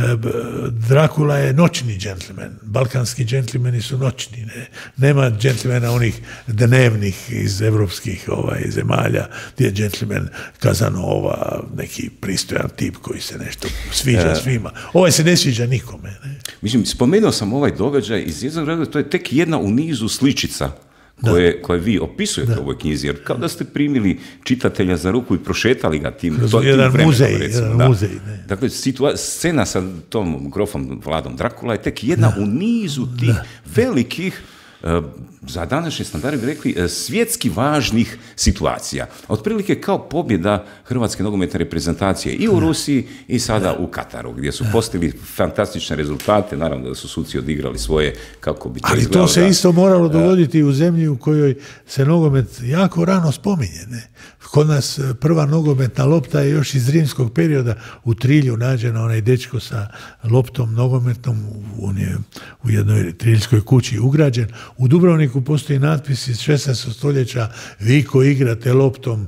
Drakula je noćni džentlmen, balkanski džentlmen, džentlmeni su noćni, ne. Nema džentlmena onih dnevnih iz evropskih ovaj, zemalja, gdje je džentlmen Kazanova, neki pristojan tip koji se nešto sviđa svima. Ovaj se ne sviđa nikome. Ne. Mislim, spomenuo sam ovaj događaj iz jednog razloga, to je tek jedna u nizu sličica koje, koje vi opisujete u ovoj knjizi, jer kao da ste primili čitatelja za ruku i prošetali ga tim, Kroz to, jedan tim muzej, vremenom, recimo, jedan da. muzej, ne. Dakle, situa- scena sa tom grofom Vladom Drakula je tek jedna da. u nizu tih da. velikih, uh, za današnje standarde bi rekli, uh, svjetski važnih situacija. Otprilike kao pobjeda hrvatske nogometne reprezentacije i u da. Rusiji i sada da. u Kataru, gdje su postigli fantastične rezultate, naravno da su suci odigrali svoje, kako bi to ali izgledalo. To se isto moralo dogoditi u zemlji u kojoj se nogomet jako rano spominje. Ne? Kod nas prva nogometna lopta je još iz rimskog perioda u Trilju nađena, onaj dečko sa loptom nogometnom, on je u jednoj triljskoj kući ugrađen. U Dubrovniku postoji natpis iz šesnaestog stoljeća: vi koji igrate loptom,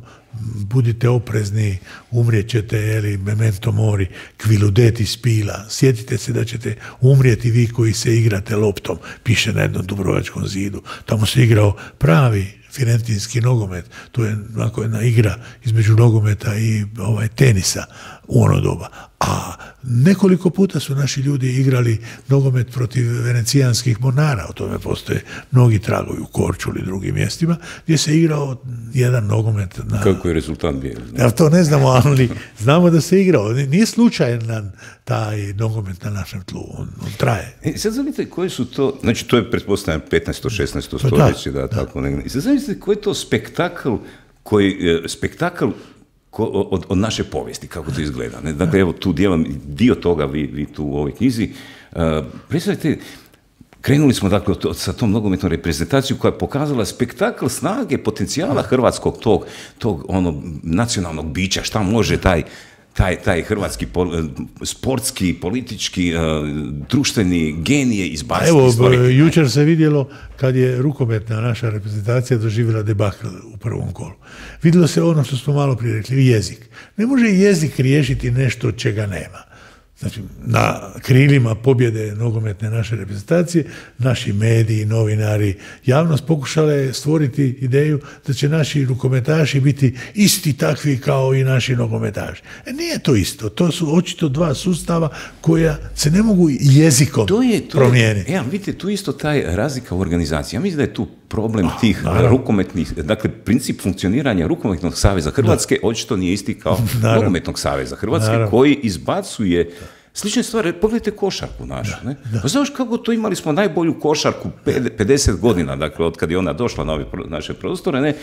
budite oprezni, umrijet ćete, eli, memento mori, qui ludeti spila. Sjetite se da ćete umrijeti vi koji se igrate loptom, piše na jednom dubrovačkom zidu. Tamo se igrao pravi firentinski nogomet. To je onako jedna igra između nogometa i ovaj, tenisa u ono doba. A nekoliko puta su naši ljudi igrali nogomet protiv venecijanskih mornara, o tome postoje mnogi tragovi u Korčuli i drugim mjestima, gdje se igrao jedan nogomet. Na... Kako je rezultat bio? Ja, to ne znamo, ali znamo da se igrao. Nije slučajan taj nogomet na našem tlu, on, on traje. E, sad zanimite koji su to, znači to je pretpostavljam petnaesto šesnaesto stoljeće, da, da, tako negdje. I sad zanimite koji je to spektakl, koji, spektakl ko, od, od naše povijesti, kako to izgleda. Ne? Dakle, evo tu dijelom, dio toga vi, vi tu u ovoj knjizi. Uh, predstavite, krenuli smo dakle to, sa tom nogometnom reprezentacijom koja je pokazala spektakl snage, potencijala hrvatskog tog, tog ono, nacionalnog bića, šta može taj taj, taj hrvatski pol, sportski, politički, uh, društveni genije izbaciti. Evo, stvoriti. jučer se vidjelo kad je rukometna naša reprezentacija doživjela debakl u prvom kolu. Vidjelo se ono što smo malo prije rekli, jezik. Ne može jezik riješiti nešto čega nema. Znači, na krilima pobjede nogometne naše reprezentacije, naši mediji, novinari, javnost pokušale stvoriti ideju da će naši rukometaši biti isti takvi kao i naši nogometaši. E, nije to isto. To su očito dva sustava koja se ne mogu jezikom to je, to promijeniti. Je, ja, vidite, tu isto taj razlika u organizaciji. Ja mislim da je tu problem oh, tih naravno. rukometnih, dakle, princip funkcioniranja rukometnog saveza Hrvatske da. očito nije isti kao naravno. nogometnog saveza Hrvatske, naravno. koji izbacuje slične stvari. Pogledajte košarku našu. Da, ne? Da. Pa znaš kako to, imali smo najbolju košarku pedeset godina, dakle, od kad je ona došla na ove naše prostore, ne?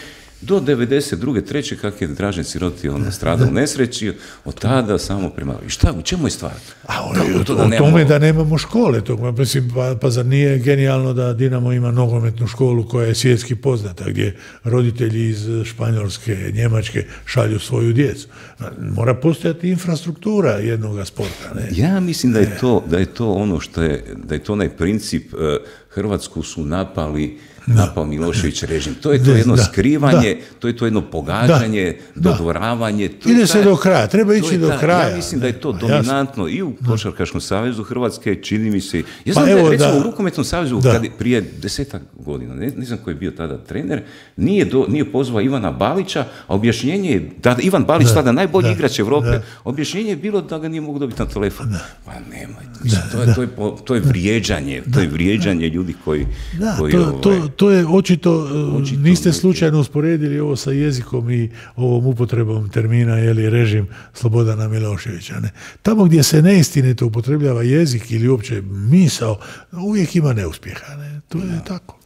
Do devedeset druge, treće kak je Dražen Siroti on stradao u nesreći, od tada samo prema... I šta, u čemu je stvar? A o, to da o nemamo... tome da nemamo škole. To, mislim, pa, pa zar nije genijalno da Dinamo ima nogometnu školu koja je svjetski poznata, gdje roditelji iz Španjolske, Njemačke šalju svoju djecu. Mora postojati infrastruktura jednoga sporta. Ne? Ja mislim da je to, da je to ono što je, da je to onaj princip, uh, Hrvatsku su napali napao Milošević režim. To je to jedno da, skrivanje, da, to je to jedno pogađanje, da, dodvoravanje. To ide se do kraja, treba ići do kraja. Ja mislim da je to dominantno i u Košarkaškom savezu Hrvatske, čini mi se. Ja znam pa da je recimo da, u Rukometnom savezu kad prije desetak godina, ne, ne znam koji je bio tada trener, nije, do, nije pozvao Ivana Balića, a objašnjenje je, da Ivan Balić da, tada najbolji da, igrač Evrope, da. objašnjenje je bilo da ga nije mogu dobiti na telefon. Da. Pa nemojte, mislim, da, to, je, da. to, je, to je vrijeđanje, da, to je vrijeđanje da. ljudi koji... Da, koji to, ovaj, to, to je očito, očito niste slučajno usporedili ovo sa jezikom i ovom upotrebom termina, jeli, režim Slobodana Miloševića. Ne? Tamo gdje se neistinito upotrebljava jezik ili uopće misao, uvijek ima neuspjeha. Ne? To je no. tako.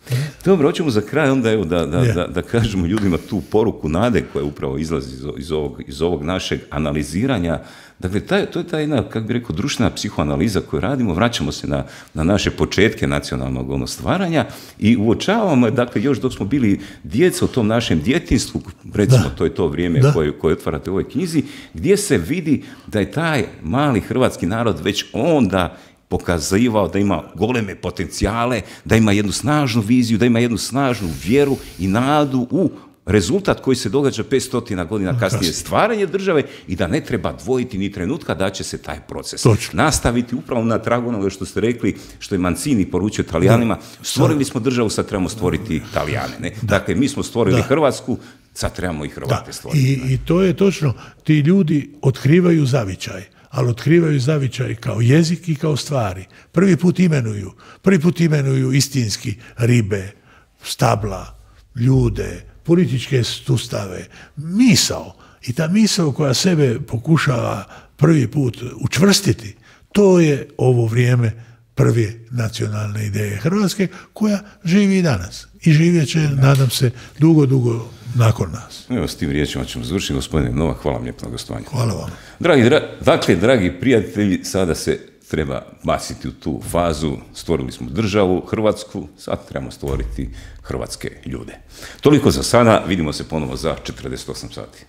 Dobro, hoćemo za kraj onda evo da, da, yeah. da, da kažemo ljudima tu poruku nade koja upravo izlazi iz, iz, ovog, iz ovog našeg analiziranja. Dakle, taj, to je ta jedna, kako bi rekao, društvena psihoanaliza koju radimo, vraćamo se na, na naše početke nacionalnog ono, stvaranja i uočavamo, dakle, još dok smo bili djeca u tom našem djetinstvu, recimo, da. to je to vrijeme koje, koje otvarate u ovoj knjizi, gdje se vidi da je taj mali hrvatski narod već onda pokazivao da ima goleme potencijale, da ima jednu snažnu viziju, da ima jednu snažnu vjeru i nadu u rezultat koji se događa petsto godina kasnije, stvaranje države i da ne treba dvojiti ni trenutka da će se taj proces Točno. nastaviti upravo na tragu onoga što ste rekli, što je Mancini poručio Talijanima, stvorili smo državu, sad trebamo stvoriti Talijane. Ne? Dakle, mi smo stvorili da. Hrvatsku, sad trebamo i Hrvate da. stvoriti. I, I to je točno, ti ljudi otkrivaju zavičaj, ali otkrivaju zavičaj kao jezik i kao stvari. Prvi put imenuju, prvi put imenuju istinski ribe, stabla, ljude, političke sustave, misao. I ta misao koja sebe pokušava prvi put učvrstiti, to je ovo vrijeme prve nacionalne ideje Hrvatske, koja živi i danas. I živjet će, nadam se, dugo, dugo nakon nas. Evo, s tim riječima ćemo završiti. Gospodine Novak, hvala vam lijepo na gostovanje. Hvala vam. Dragi, dra, dakle, dragi prijatelji, sada se treba baciti u tu fazu. Stvorili smo državu, Hrvatsku, sad trebamo stvoriti hrvatske ljude. Toliko za sada, vidimo se ponovo za četrdeset osam sati.